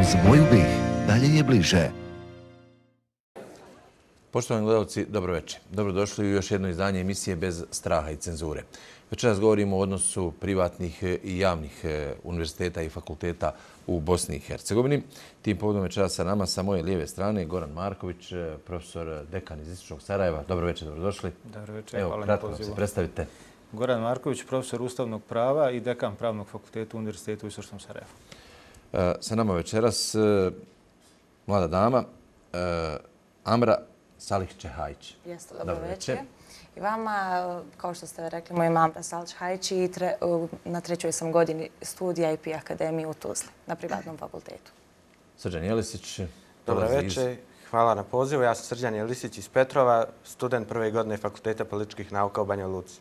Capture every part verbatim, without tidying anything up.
Uz moju bih, dalje je bliže. Poštovani gledalci, dobro večer. Dobrodošli u još jedno izdanje emisije Bez straha i cenzure. Večeras govorimo o odnosu privatnih i javnih univerziteta i fakulteta u Bosni i Hercegovini. Tim povodom večeras sa nama sa moje lijeve strane Goran Marković, profesor dekan iz Istočnog Sarajeva. Dobro večer, dobrodošli. Dobro večer, Evo, hvala na kratko pozivu. se predstavite. Goran Marković, profesor ustavnog prava i dekan Pravnog fakulteta Univerziteta u Istočnom Sarajevu. Sa nama večeras mlada dama Amra Salić-Čehajić. Jeste, dobro večer. I vama, kao što ste rekli, moja Amra Salić-Čehajić i na trećoj sam godini studija I P Akademije u Tuzli, na privatnom fakultetu. Srđan Jelisić. Dobro večer, hvala na pozivu. Ja sam Srđan Jelisić iz Petrova, student prve godine Fakulteta političkih nauka u Banja Luci.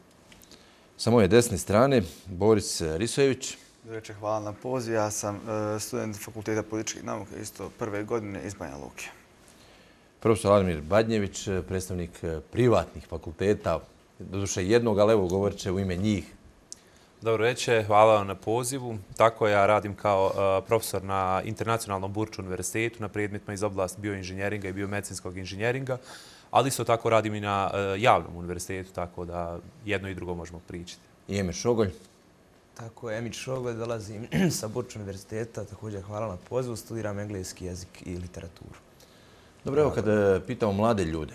Sa moje desne strane, Boris Risojević. Dobro večer, hvala na poziv. Ja sam student Fakulteta političkih nauka, isto prve godine iz Banja Luke. Profesor Admir Badnjević, predstavnik privatnih fakulteta, doduše jednog, ali evo govorit će u ime njih. Dobro večer, hvala vam na pozivu. Tako ja radim kao profesor na Internacionalnom Burču univerzitetu na predmetima iz oblasti bioinženjeringa i biomedicinskog inženjeringa, ali isto tako radim i na javnom univerzitetu, tako da jedno i drugo možemo pričati. I Emir Šogolj. Tako je, Emir Šogolj, dolazim sa Burču univerziteta, također hvala na pozivu, studiram engleski jezik i literaturu. Dobro, evo kada pitamo mlade ljude,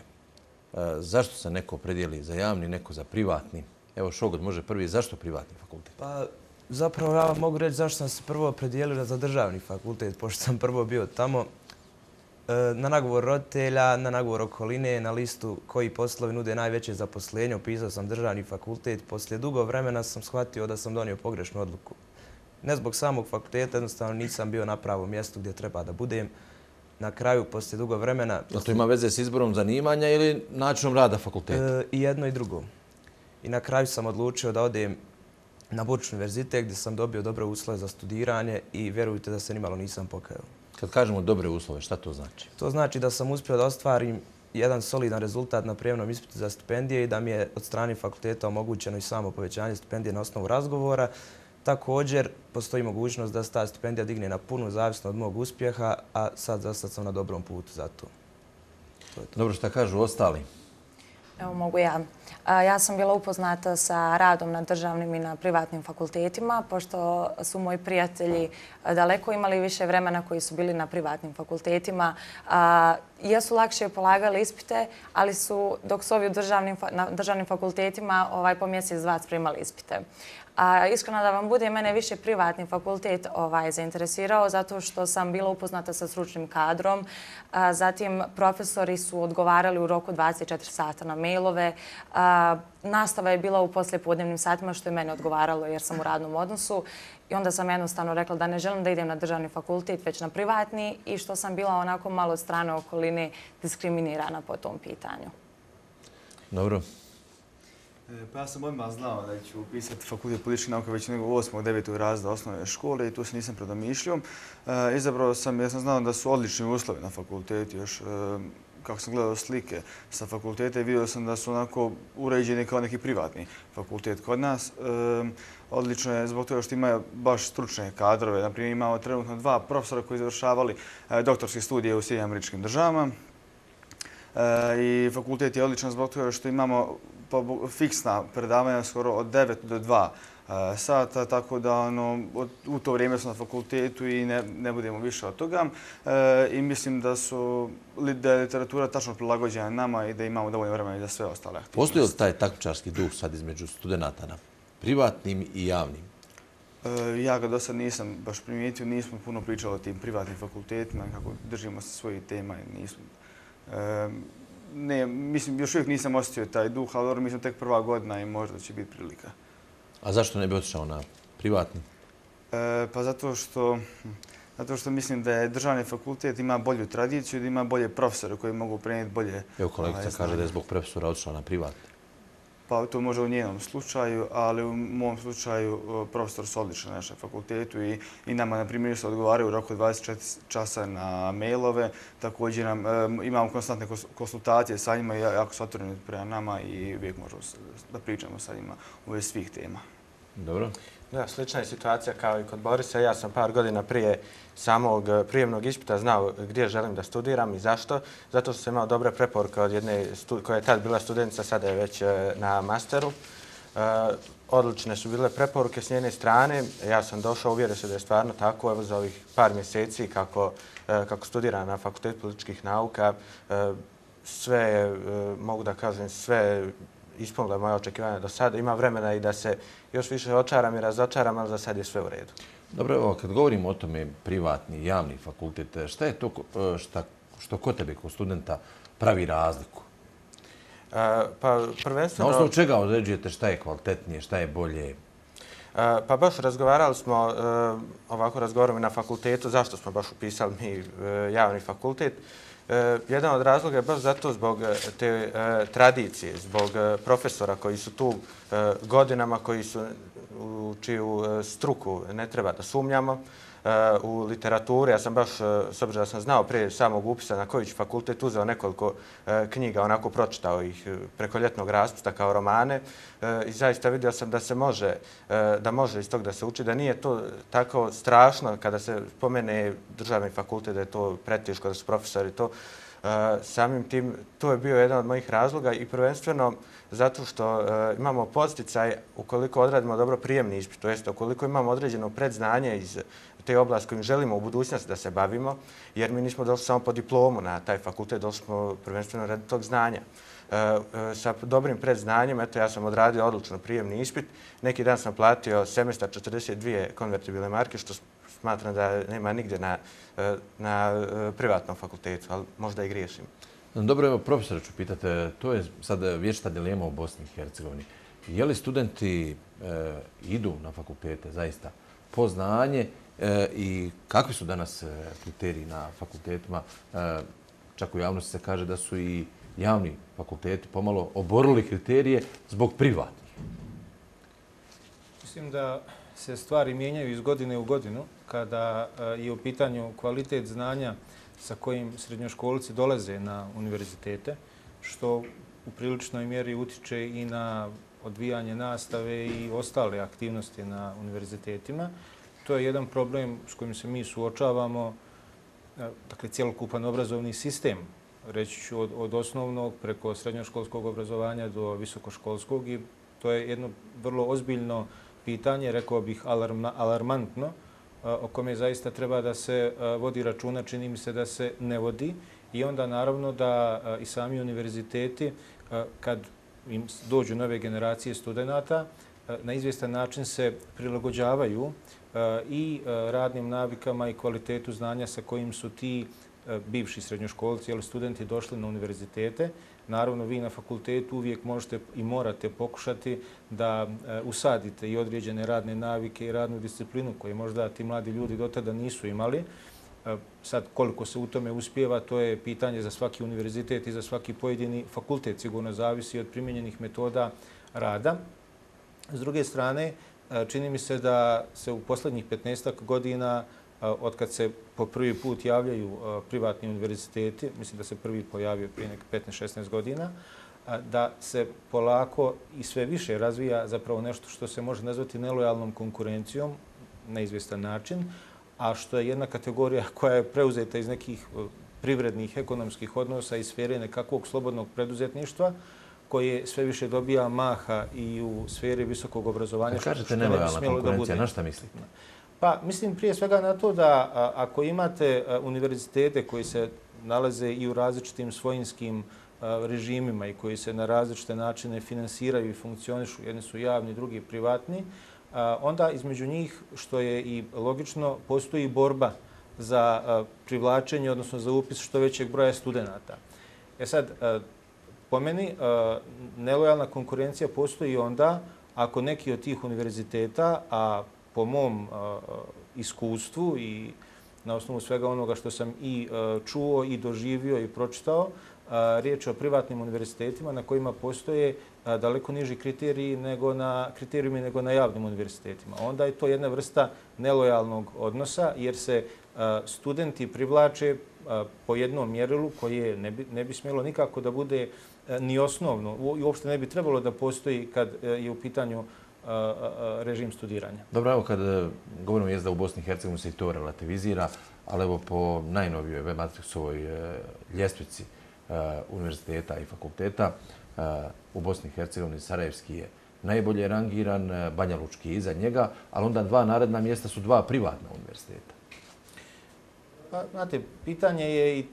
zašto se neko opredijeli za javni, neko za privatni? Evo Šogolj može prvi, zašto privatni fakultet? Pa zapravo ja mogu reći zašto sam se prvo opredijelio za državni fakultet, pošto sam prvo bio tamo. Na nagovor roditelja, na nagovor okoline, na listu koji poslovi nude najveće zaposlenje, upisao sam državni fakultet. Poslije dugo vremena sam shvatio da sam donio pogrešnu odluku. Ne zbog samog fakulteta, jednostavno nisam bio na pravom mjestu gdje treba da budem. Na kraju, poslije dugo vremena... Da to ima veze s izborom zanimanja ili načinom rada fakulteta? I jedno i drugo. I na kraju sam odlučio da odem na Burč univerzitet gdje sam dobio dobre uslove za studiranje i vjerujte da se nimalo nisam pokajao. Kad kažemo dobre uslove, šta to znači? To znači da sam uspio da ostvarim jedan solidan rezultat na prijemnom ispitu za stipendije i da mi je od strane fakulteta omogućeno i samo povećanje stipendije na osnovu razgovora. Također, postoji mogućnost da se ta stipendija digne na punu, zavisno od mog uspjeha, a sad za sad sam na dobrom putu za to. Dobro, šta kažu ostali? Evo mogu ja. Ja sam bila upoznata sa radom na državnim i na privatnim fakultetima, pošto su moji prijatelji daleko imali više vremena koji su bili na privatnim fakultetima. Jesu lakše polagali ispite, ali su, dok su ovi na državnim fakultetima, po mjesec dva spremali ispite. Iskreno da vam bude, mene više privatni fakultet zainteresirao zato što sam bila upoznata sa stručnim kadrom. Zatim, profesori su odgovarali u roku dvadeset četiri sata na mailove. Nastava je bila u poslijepodnevnim satima, što je mene odgovaralo jer sam u radnom odnosu. I onda sam jednostavno rekla da ne želim da idem na državni fakultet, već na privatni i što sam bila onako malo od strane okoline diskriminirana po tom pitanju. Dobro. Pa ja sam odmah znao da ću upisati fakultet političkih nauka već nego u osmog devetog razreda osnovne škole i tu se nisam predomišljio. Izabrao sam jer sam znao da su odlični uslovi na fakultetu još. Kako sam gledao slike sa fakulteta i vidio sam da su onako uređeni kao neki privatni fakultet kod nas. Odlično je zbog toga što imaju baš stručne kadrove. Naprimjer, imamo trenutno dva profesora koji završavali doktorske studije u Sjedinjenim Američkim Državama. I fakultet je odličan zbog toga što imamo fiksna predavanja skoro od devet do dva sata, tako da u to vrijeme smo na fakultetu i ne budemo više od toga. I mislim da je literatura tačno prilagođena nama i da imamo dovoljno vremena i za sve ostale aktivnosti. Postoji li taj takmičarski duh sad između studenta na privatnim i javnim? Ja ga do sad nisam baš primijetio, nismo puno pričali o tim privatnim fakultetima, kako držimo se svojih tema i nismo... Ne, mislim, još uvijek nisam osjetio taj duh, ali dobro, mi smo tek prva godina i možda će biti prilika. A zašto ne bi otišao na privatni? Pa zato što, zato što mislim da je državni fakultet ima bolju tradiciju, da ima bolje profesore koji mogu prenijeti bolje... Evo kolegica kaže da je zbog profesora otišla na privatni. Pa to može u njenom slučaju, ali u mom slučaju profesor su odlični na našem fakultetu i, i nama, na primjer, se odgovaraju u roku dvadeset četiri časa na mailove. Također nam, imamo konstantne konsultacije sa njima i jako su otvoreni prema nama i uvijek možemo da pričamo sa njima u svih tema. Dobro. Da, slična je situacija kao i kod Borisa. Ja sam par godina prije samog prijemnog ispita znao gdje želim da studiram i zašto. Zato što sam imao dobre preporuke od jedne koja je tad bila studentica, sada je već na masteru. Odlične su bile preporuke s njene strane. Ja sam došao, uvjerio se da je stvarno tako. Evo za ovih par mjeseci kako, kako studiram na Fakultetu političkih nauka, sve, mogu da kažem, sve ispunilo moje očekivanja do sada. Ima vremena i da se još više očaram i razočaram, ali za sad je sve u redu. Dobro, evo, kad govorimo o tome privatni, javni fakultet, šta je to šta, što kod tebe, kod studenta, pravi razliku? Pa prvenstveno... Na osnovu čega određujete šta je kvalitetnije, šta je bolje? Pa baš razgovarali smo, ovako razgovaramo i na fakultetu, zašto smo baš upisali mi javni fakultet. Jedan od razloga je baš zato zbog te tradicije, zbog profesora koji su tu godinama, koji su u čiju struku ne treba da sumnjamo. U literaturi, ja sam baš, s obzirom da sam znao prije samog upisa na koji ću fakultet, uzeo nekoliko knjiga, onako pročitao ih preko ljetnog raspusta kao romane i zaista vidio sam da se može, da može iz tog da se uči, da nije to tako strašno kada se pomene državni fakultet, da je to preteško, da su profesori to. Samim tim, to je bio jedan od mojih razloga i prvenstveno zato što imamo podsticaj ukoliko odradimo dobro prijemni ispit, to jest ukoliko imamo određeno predznanje iz te oblasti kojim želimo u budućnosti da se bavimo, jer mi nismo došli samo po diplomu na taj fakultet, došli smo prvenstveno radi tog znanja. Sa dobrim predznanjem, eto ja sam odradio odlično prijemni ispit, neki dan sam platio semestar četrdeset dvije konvertibilne marke, što smatram da nema nigdje na, na privatnom fakultetu, ali možda i griješim. Dobro, evo, profesora ću pitati, to je sad vječita dilema u Bosni i Hercegovini. Je li studenti e, idu na fakultete zaista po znanje e, i kakvi su danas kriteriji na fakultetima? E, čak u javnosti se kaže da su i javni fakulteti pomalo oborili kriterije zbog privatnih. Mislim da se stvari mijenjaju iz godine u godinu kada je u pitanju kvalitet znanja sa kojim srednjoškolci dolaze na univerzitete, što u priličnoj mjeri utiče i na odvijanje nastave i ostale aktivnosti na univerzitetima. To je jedan problem s kojim se mi suočavamo, dakle, cjelokupan obrazovni sistem, reći ću od, od osnovnog preko srednjoškolskog obrazovanja do visokoškolskog, i to je jedno vrlo ozbiljno pitanje, rekao bih alarma, alarmantno, o kome zaista treba da se vodi računa, čini mi se da se ne vodi. I onda naravno da i sami univerziteti, kad im dođu nove generacije studenata, na izvjestan način se prilagođavaju i radnim navikama i kvalitetu znanja sa kojim su ti bivši srednjoškolci ili studenti došli na univerzitete. Naravno, vi na fakultetu uvijek možete i morate pokušati da usadite i određene radne navike i radnu disciplinu koje možda ti mladi ljudi do tada nisu imali. Sad, koliko se u tome uspijeva, to je pitanje za svaki univerzitet i za svaki pojedini fakultet. Sigurno zavisi od primjenjenih metoda rada. S druge strane, čini mi se da se u posljednjih petnaestak godina, od kad se po prvi put javljaju privatni univerziteti, mislim da se prvi pojavio prije nek petnaest šesnaest godina, da se polako i sve više razvija zapravo nešto što se može nazvati nelojalnom konkurencijom na izvjestan način, a što je jedna kategorija koja je preuzeta iz nekih privrednih, ekonomskih odnosa i sfere nekakvog slobodnog preduzetništva, koje sve više dobija maha i u sferi visokog obrazovanja. Kad kažete nelojalna konkurencija, na šta mislite? Pa mislim prije svega na to da a, ako imate a, univerzitete koji se nalaze i u različitim svojinskim a, režimima i koji se na različite načine finansiraju i funkcionišu, jedni su javni, drugi privatni, a, onda između njih, što je i logično, postoji borba za a, privlačenje, odnosno za upis što većeg broja studenata. E sad, a, po meni, a, nelojalna konkurencija postoji onda ako neki od tih univerziteta, a po mom uh, iskustvu i na osnovu svega onoga što sam i uh, čuo i doživio i pročitao, uh, riječ je o privatnim univerzitetima na kojima postoje uh, daleko niži kriteriji nego na kriterijumi nego na javnim univerzitetima. Onda je to jedna vrsta nelojalnog odnosa jer se uh, studenti privlače uh, po jednom mjerilu koje ne bi, ne bi smjelo nikako da bude uh, ni osnovno i uopšte ne bi trebalo da postoji kad uh, je u pitanju režim studiranja. Dobro, evo kad govorimo jezda u Bosni i Hercegovini se i to relativizira, ali evo po najnovijoj web matrixovoj ljestvici univerziteta i fakulteta u Bosni i Hercegovini Sarajevski je najbolje rangiran, Banja Lučki je iza njega, ali onda dva naredna mjesta su dva privatna univerziteta. Pa, znate, pitanje je i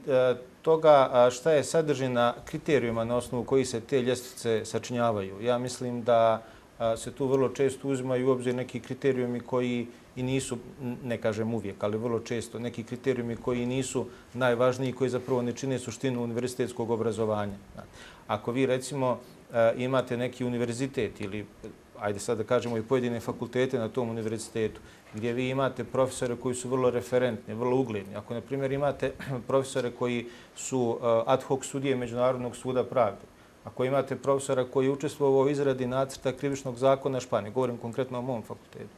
toga šta je sadržina kriterijuma na osnovu koji se te ljestvice sačinjavaju. Ja mislim da se tu vrlo često uzimaju u obzir neki kriterijumi koji i nisu, ne kažem uvijek, ali vrlo često, neki kriterijumi koji nisu najvažniji, koji zapravo ne čine suštinu univerzitetskog obrazovanja. Ako vi, recimo, imate neki univerzitet ili, ajde sad da kažemo, i pojedine fakultete na tom univerzitetu, gdje vi imate profesore koji su vrlo referentni, vrlo ugledni. Ako, na primjer, imate profesore koji su ad hoc sudije Međunarodnog suda pravde, ako imate profesora koji je učestvovao u izradi nacrta krivičnog zakona Španije, govorim konkretno o mom fakultetu,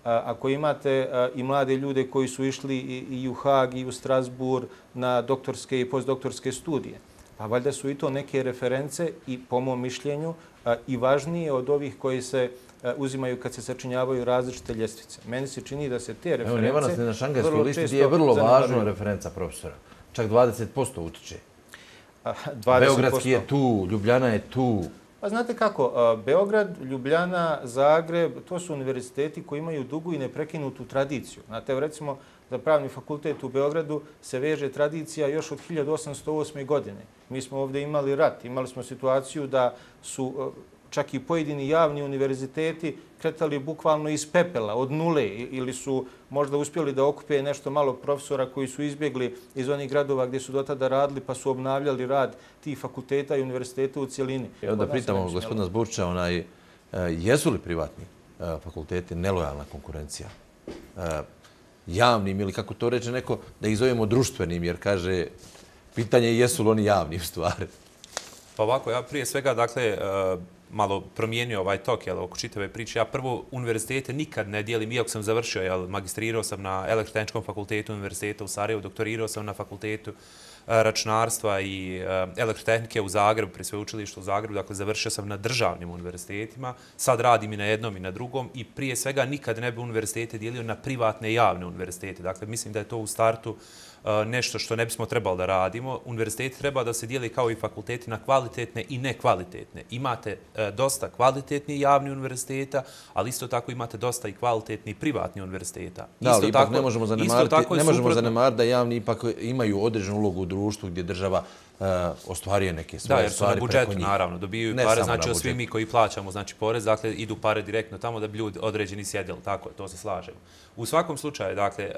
ako imate i mlade ljude koji su išli i u Hag i u Strasbourg na doktorske i postdoktorske studije, pa valjda su i to neke reference i, po mom mišljenju, i važnije od ovih koji se uzimaju kad se sačinjavaju različite ljestvice. Meni se čini da se te reference... Evo, nema nas na šangajskoj listi gdje je vrlo važna referenca profesora. Čak dvadeset posto utiče. Beogradski je tu, Ljubljana je tu. Pa znate kako, Beograd, Ljubljana, Zagreb, to su univerziteti koji imaju dugu i neprekinutu tradiciju. Znate, recimo, za pravni fakultet u Beogradu se veže tradicija još od hiljadu osamsto osme. godine. Mi smo ovdje imali rat, imali smo situaciju da su čak i pojedini javni univerziteti kretali bukvalno iz pepela, od nule, ili su možda uspjeli da okupe nešto malo profesora koji su izbjegli iz onih gradova gdje su do tada radili pa su obnavljali rad tih fakulteta i univerziteta u cijelini. Evo da pitamo gospodina Zburča, onaj, jesu li privatni fakulteti nelojalna konkurencija javnim ili kako to reče neko, da ih zovemo društvenim, jer kaže, pitanje je jesu li oni javni u stvari. Pa ovako, ja prije svega, dakle, malo promijenio ovaj tok jel, oko čitave priče. Ja prvo univerzitete nikad ne dijelim, iako sam završio, jel, magistrirao sam na Elektrotehničkom fakultetu univerziteta u Sarajevu, doktorirao sam na fakultetu računarstva i elektrotehnike u Zagrebu, pri sveučilištu u Zagrebu, dakle završio sam na državnim univerzitetima, sad radim i na jednom i na drugom i prije svega nikad ne bi univerzitete dijelio na privatne i javne univerzitete. Dakle, mislim da je to u startu nešto što ne bismo trebali da radimo. Univerziteti treba da se dijeli kao i fakulteti na kvalitetne i nekvalitetne. Imate dosta kvalitetnih javnih univerziteta, ali isto tako imate dosta i kvalitetnih privatnih univerziteta. Da, ali ipak ne možemo zanemariti da javni ipak imaju određenu ulogu u društvu gdje država ostvaruje neke svoje stvari preko njih. Da, jer su na budžetu, naravno, dobijaju pare, znači svi mi koji plaćamo znači porez, dakle idu pare direktno tamo da bi ljudi određeni sjedili, tako, to se slažemo. U svakom slučaju, dakle,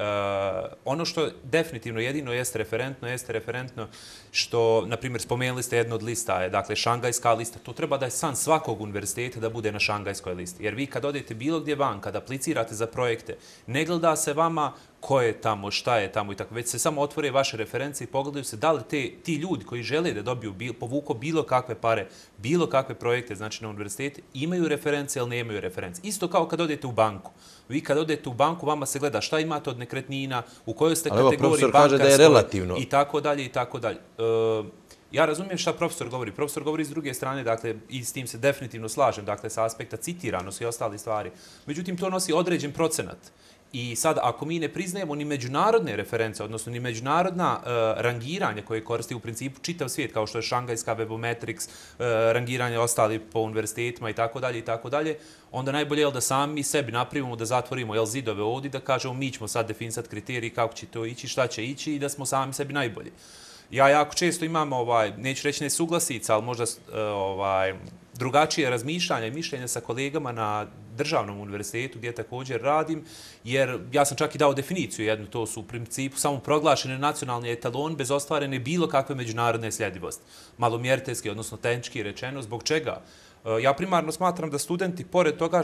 ono što definitivno jedino jeste referentno, jeste referentno što, na primjer, spomenuli ste jedno od lista, je, dakle, šangajska lista, to treba da je san svakog univerziteta da bude na šangajskoj listi. Jer vi kad odete bilo gdje van, kad aplicirate za projekte, ne gleda se vama ko je tamo, šta je tamo i tako, već se samo otvore vaše reference i pogledaju se da li te, ti ljudi koji žele da dobiju, bil, povuko bilo kakve pare, bilo kakve projekte, znači na univerzitete, imaju reference ili nemaju reference. Isto kao kad odete u banku. Vi kad odete u banku, vama se gleda šta imate od nekretnina, u kojoj ste kategoriji bankarskoj i tako dalje i tako dalje. Ja razumijem šta profesor govori. Profesor govori s druge strane, dakle, i s tim se definitivno slažem, dakle, sa aspekta citiranosti i ostali stvari. Međutim, to nosi određen procenat. I sad, ako mi ne priznajemo ni međunarodne reference, odnosno ni međunarodna uh, rangiranja koje koristi u principu čitav svijet, kao što je šangajska, Webometrics, uh, rangiranje ostali po univerzitetima i tako dalje i tako dalje, onda najbolje je da sami sebi napravimo, da zatvorimo jel, zidove ovdje, da kažemo mi ćemo sad definisati kriteriji kako će to ići, šta će ići i da smo sami sebi najbolji. Ja jako često imam, ovaj, neću reći nesuglasica, ali možda ovaj, drugačije razmišljanja i mišljenja sa kolegama na državnom univerzitetu gdje također radim, jer ja sam čak i dao definiciju jednu, to su u principu samo proglašene nacionalni etalon bez ostvarene bilo kakve međunarodne sljedivosti. Malomjeriteljski, odnosno tehnički rečeno, zbog čega? Ja primarno smatram da studenti, pored toga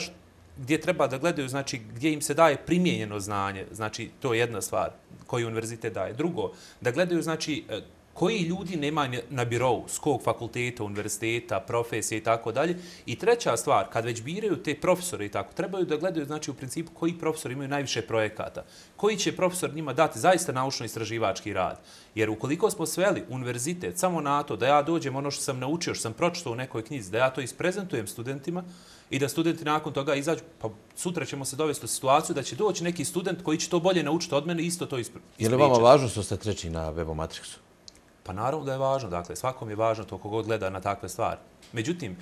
gdje treba da gledaju, znači gdje im se daje primijenjeno znanje, znači to je jedna stvar koju univerzitet daje. Drugo, da gledaju, znači, koji ljudi nema na birovu, s kog fakulteta, univerziteta, profesije i tako dalje. I treća stvar, kad već biraju te profesore i tako, trebaju da gledaju, znači, u principu koji profesori imaju najviše projekata. Koji će profesor njima dati zaista naučno-istraživački rad. Jer ukoliko smo sveli univerzitet samo na to da ja dođem ono što sam naučio, što sam pročitao u nekoj knjizi, da ja to isprezentujem studentima, i da studenti nakon toga izađu, pa sutra ćemo se dovesti u situaciju da će doći neki student koji će to bolje naučiti od mene i isto to ispričati. Je li vama važno što ste treći na Webo Matrixu? Pa naravno da je važno, dakle, svakom je važno to kogod gleda na takve stvari. Međutim,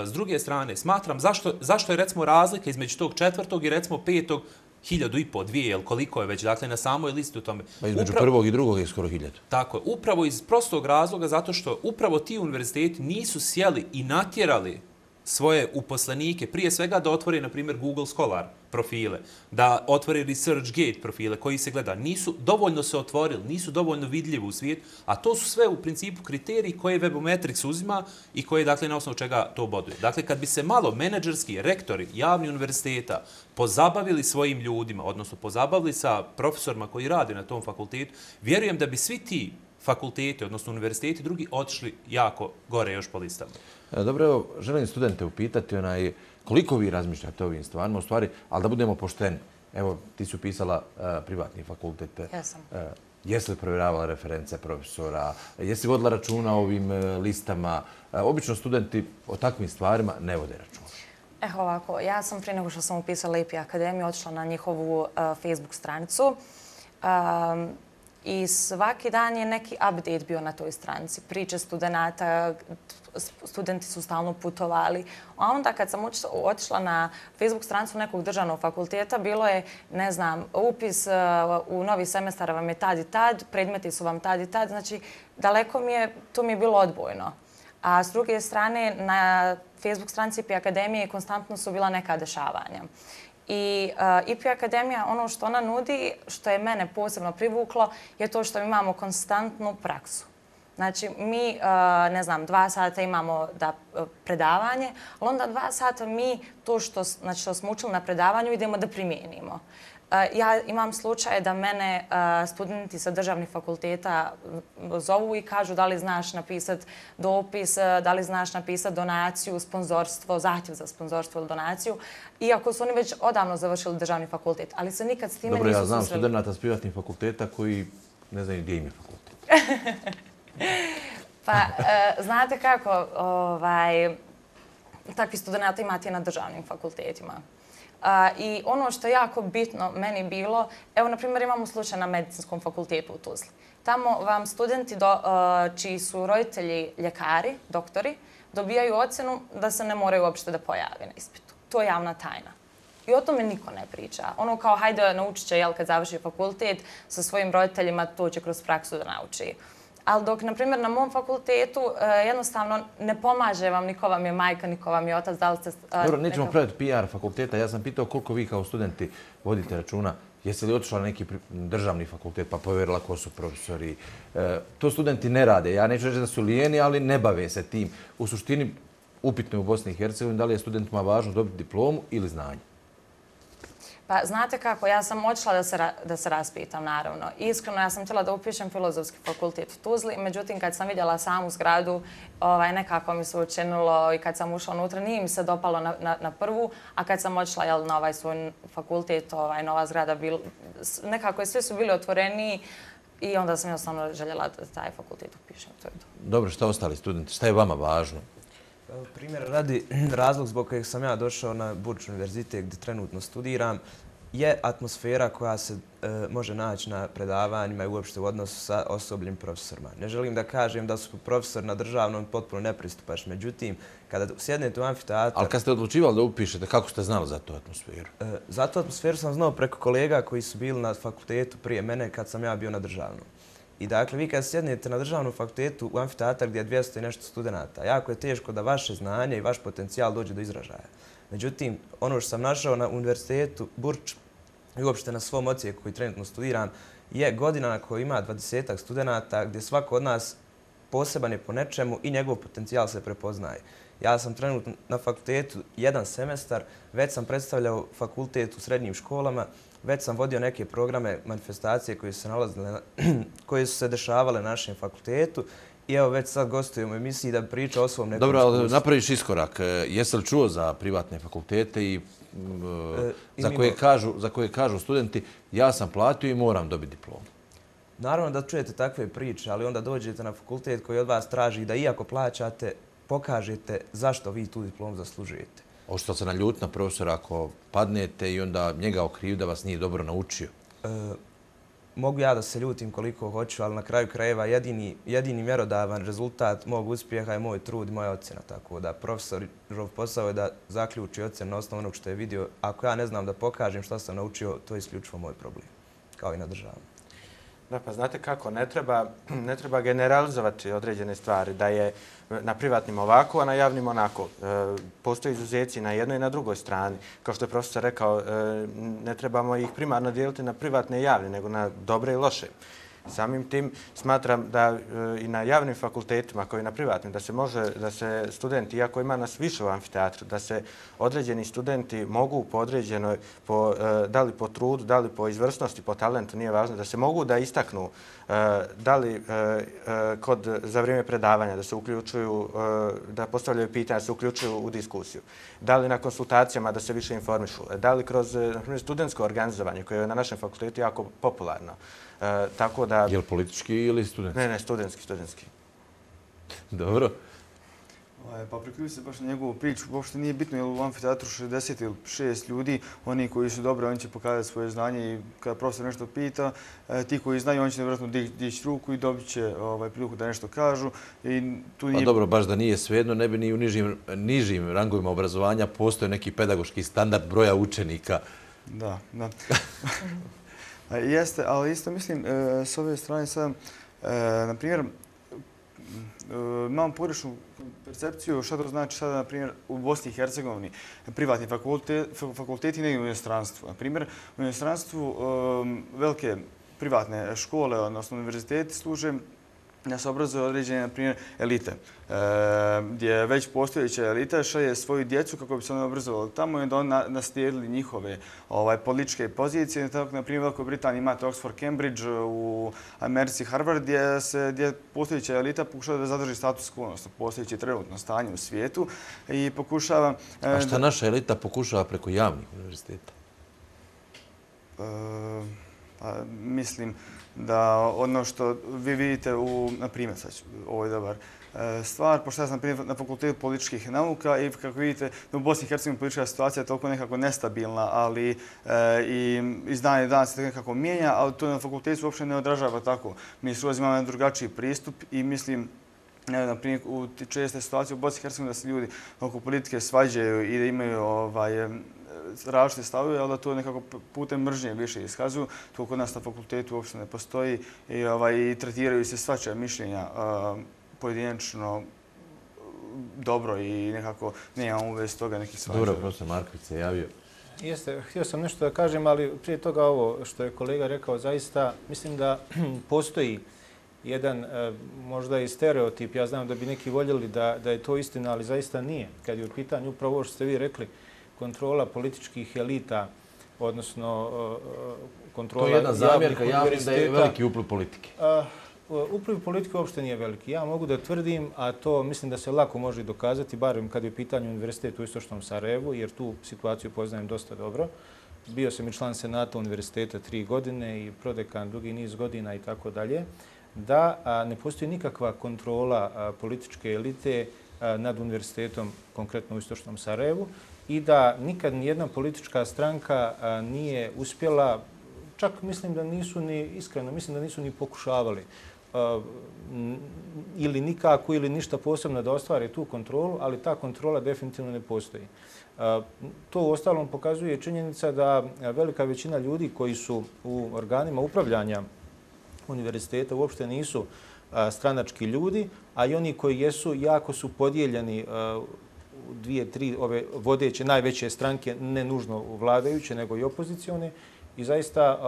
s druge strane, smatram zašto, zašto je recimo razlika između tog četvrtog i recimo petog hiljadu i po, dvije, ili koliko je već, dakle, na samoj listi u tome. Pa između upravo, prvog i drugog je skoro hiljadu. Tako je, upravo iz prostog razloga zato što upravo ti univerziteti nisu sjeli i natjerali svoje uposlenike, prije svega da otvori, na primjer, Google Scholar profile, da otvori ResearchGate profile koji se gleda. Nisu dovoljno se otvorili, nisu dovoljno vidljivi u svijetu, a to su sve u principu kriteriji koje Webometrics uzima i koje, dakle, na osnovu čega to boduje. Dakle, kad bi se malo menadžerski rektori javnih univerziteta pozabavili svojim ljudima, odnosno pozabavili sa profesorima koji rade na tom fakultetu, vjerujem da bi svi ti fakulteti, odnosno univerziteti drugi, otišli jako gore još po listama. Dobro, evo, želim studente upitati onaj, koliko vi razmišljate o ovim stvarima, u stvari, ali da budemo pošteni. Evo, ti si upisala uh, privatni fakultet. Jesam. Uh, jesi li provjeravala reference profesora? Jesi vodila računa o ovim uh, listama? Uh, obično studenti o takvim stvarima ne vode računa. Evo ovako, ja sam prije nego što sam upisala I P Akademiju otišla na njihovu uh, Facebook stranicu. Um, I svaki dan je neki update bio na toj stranici. Priče studenta, studenti su stalno putovali. A onda kad sam otišla na Facebook stranicu nekog državnog fakulteta, bilo je, ne znam, upis u novi semestar vam je tad i tad, predmeti su vam tad i tad. Znači, daleko mi je, to mi je bilo odbojno. A s druge strane, na Facebook stranici I P Akademije konstantno su bila neka dešavanja. I uh, I P Akademija, ono što ona nudi, što je mene posebno privuklo, je to što imamo konstantnu praksu. Znači, mi, uh, ne znam, dva sata imamo da, uh, predavanje, ali onda dva sata mi to što, znači, što smo učili na predavanju idemo da primijenimo. Uh, ja imam slučaje da mene uh, studenti sa državnih fakulteta zovu i kažu da li znaš napisati dopis, uh, da li znaš napisati donaciju, sponzorstvo, zahtjev za sponzorstvo ili donaciju, iako su oni već odavno završili državni fakultet, ali se nikad s time Dobro, nisu ja znam susreli. studenta s privatnih fakulteta koji ne znaju gdje im je fakultet. Pa, uh, znate kako, ovaj, takvi studenta imate i na državnim fakultetima. Uh, I ono što je jako bitno meni bilo, evo, na primjer, imamo slučaj na medicinskom fakultetu u Tuzli. Tamo vam studenti do, uh, čiji su roditelji ljekari, doktori, dobijaju ocjenu da se ne moraju uopšte da pojave na ispitu. To je javna tajna. I o tome niko ne priča. Ono kao, hajde, naučit će, jel, kad završi fakultet, sa svojim roditeljima to će kroz praksu da nauči. Ali dok, na primjer, na mom fakultetu jednostavno ne pomaže vam niko vam je majka, niko vam je otac, da li ste... Dobro, nećemo praviti P R fakulteta. Ja sam pitao koliko vi kao studenti vodite računa. Jeste li otišla na neki državni fakultet pa povjerila ko su profesori? To studenti ne rade. Ja neću reći da su lijeni, ali ne bave se tim. U suštini, upitno je u Bosni i Hercegovini da li je studentima važno dobiti diplomu ili znanje. Pa znate kako, ja sam odšla da se, da se raspitam, naravno. Iskreno, ja sam htjela da upišem filozofski fakultet u Tuzli, međutim, kad sam vidjela samu zgradu, ovaj, nekako mi se učinilo i kad sam ušla unutra, nije mi se dopalo na, na, na prvu, a kad sam odšla, jel, na ovaj svoj fakultet, ovaj, nova zgrada, bil, nekako je, svi su bili otvoreni i onda sam jednostavno željela da taj fakultet upišem. To je to. Dobro, šta ostali studenti? Šta je vama važno? Primjer radi, razlog zbog kojeg sam ja došao na Burč univerzitet gdje trenutno studiram je atmosfera koja se e, može naći na predavanjima i uopšte u odnosu sa osobljem profesorima. Ne želim da kažem da su profesori na državnom potpuno nepristupačni, međutim, kada sjednete u amfiteatru... Ali kad ste odlučivali da upišete, kako ste znali za tu atmosferu? E, za tu atmosferu sam znao preko kolega koji su bili na fakultetu prije mene kad sam ja bio na državnom. I dakle, vi kad sjednete na državnom fakultetu u amfiteatar gdje je dvjesto i nešto studenta, jako je teško da vaše znanje i vaš potencijal dođe do izražaja. Međutim, ono što sam našao na univerzitetu Burč i uopšte na svom ocijeku koji trenutno studiram je godina na kojoj ima dvadesetak studenta gdje svako od nas poseban je po nečemu i njegov potencijal se prepoznaje. Ja sam trenutno na fakultetu jedan semestar, već sam predstavljao fakultet u srednjim školama, već sam vodio neke programe, manifestacije koje su se nalazile, koje su se dešavale na našem fakultetu i evo već sad gostujem u emisiji da priča o svom nekom Dobro, ali iskustvu. napraviš iskorak. Jesi li čuo za privatne fakultete i, E, za, koje kažu, za koje kažu studenti ja sam platio i moram dobiti diplomu? Naravno da čujete takve priče, ali onda dođete na fakultet koji od vas traži da iako plaćate, pokažete zašto vi tu diplomu zaslužujete. Hoćete li se naljutiti na profesora ako padnete i onda njega okriviti da vas nije dobro naučio? E, mogu ja da se ljutim koliko hoću, ali na kraju krajeva jedini, jedini mjerodavan rezultat mog uspjeha je moj trud i moja ocjena. Tako da profesorov posao je da zaključi ocjenu na osnovu onog što je vidio. Ako ja ne znam da pokažem što sam naučio, to je isključivo moj problem, kao i na državnom. Da, pa znate kako, ne treba, ne treba generalizovati određene stvari, da je na privatnim ovako, a na javnim onako. E, postoje izuzeci na jednoj i na drugoj strani. Kao što je profesor rekao, e, ne trebamo ih primarno dijeliti na privatne i javne, nego na dobre i loše. Samim tim smatram da e, i na javnim fakultetima, kao i na privatnim, da se može, da se studenti, iako ima nas više u amfiteatru, da se određeni studenti mogu po određenoj, po, e, da li po trudu, da li po izvrsnosti, po talentu, nije važno, da se mogu da istaknu e, da li e, e, kod, za vrijeme predavanja, da se uključuju, e, da postavljaju pitanja, da se uključuju u diskusiju. Da li na konsultacijama da se više informišu, da li kroz, na primjer, studentsko organizovanje, koje je na našem fakultetu jako popularno. E, tako da... Je li politički ili studentski? Ne, ne, studentski, studentski. Dobro. Pa priključujem se baš na njegovu priču. Uopšte nije bitno je li u amfiteatru šezdeset ili šest ljudi, oni koji su dobri, oni će pokazati svoje znanje i kada profesor nešto pita, ti koji znaju, oni će nevjerojatno dići ruku i dobit će ovaj, priliku da nešto kažu. I tu nije... Pa dobro, baš da nije svejedno, ne bi ni u nižim, nižim rangovima obrazovanja postoje neki pedagoški standard broja učenika. Da, da. Jeste, ali isto mislim, s ove strane sad, na primjer, imam pogrešnu percepciju šta to znači sada, na primjer, u Bosni i Hercegovini, privatni fakulteti negdje u inostranstvu. Na primjer, u inostranstvu velike privatne škole, odnosno univerziteti, služe da se obrazuje određene, na primjer, elite, gdje već postojeća elita šalje svoju djecu kako bi se oni obrazovali tamo i onda oni naslijedili njihove političke pozicije. Tako, na primjer, u Velikoj Britaniji imate Oxford, Cambridge, u Americi Harvard, gdje postojeća elita pokušava da zadrži status quo, odnosno postojeće trenutno stanje u svijetu i pokušava... A šta naša elita pokušava preko javnih univerziteta? Mislim da ono što vi vidite u, na primjer, sad, ovo je dobar stvar, pošto ja sam na fakultetu političkih nauka i kako vidite, u Bosni i Hercegovini politička situacija je toliko nekako nestabilna, ali i iz dana i dana se nekako mijenja, ali to na fakultetu uopšte ne odražava tako. Mi s imamo jedan drugačiji pristup i mislim, na primjer, u česte situacije u Bosni i Hercegovini da se ljudi oko politike svađaju i da imaju ovaj, različite stavove, ali da to nekako putem mržnje više iskazuju. To kod nas na fakultetu uopšte ne postoji i, ovaj, i tretiraju se svačija mišljenja uh, pojedinačno dobro i nekako nemam u vezi toga nekih svađa. Dobro, profesor Marković se javio. Jeste, htio sam nešto da kažem, ali prije toga ovo što je kolega rekao, zaista mislim da postoji jedan možda i stereotip. Ja znam da bi neki voljeli da, da je to istina, ali zaista nije. Kad je u pitanju upravo ovo što ste vi rekli, kontrola političkih elita, odnosno kontrola... To je jedna zamjerka, ja mislim da je veliki upliv politike. Upliv politike uopšte nije veliki. Ja mogu da tvrdim, a to mislim da se lako može dokazati, barem kad je u pitanju univerzitet u Istočnom Sarajevu, jer tu situaciju poznajem dosta dobro. Bio sam i član senata univerziteta tri godine i prodekan dugi niz godina i tako dalje, da ne postoji nikakva kontrola političke elite nad univerzitetom, konkretno u Istočnom Sarajevu, i da nikad nijedna politička stranka nije uspjela, čak mislim da nisu ni, iskreno, mislim da nisu ni pokušavali ili nikako ili ništa posebno da ostvare tu kontrolu, ali ta kontrola definitivno ne postoji. To u ostalom pokazuje činjenica da velika većina ljudi koji su u organima upravljanja univerziteta uopšte nisu stranački ljudi, a i oni koji jesu jako su podijeljeni u dvije, tri ove vodeće, najveće stranke, ne nužno vladajuće, nego i opozicione. I zaista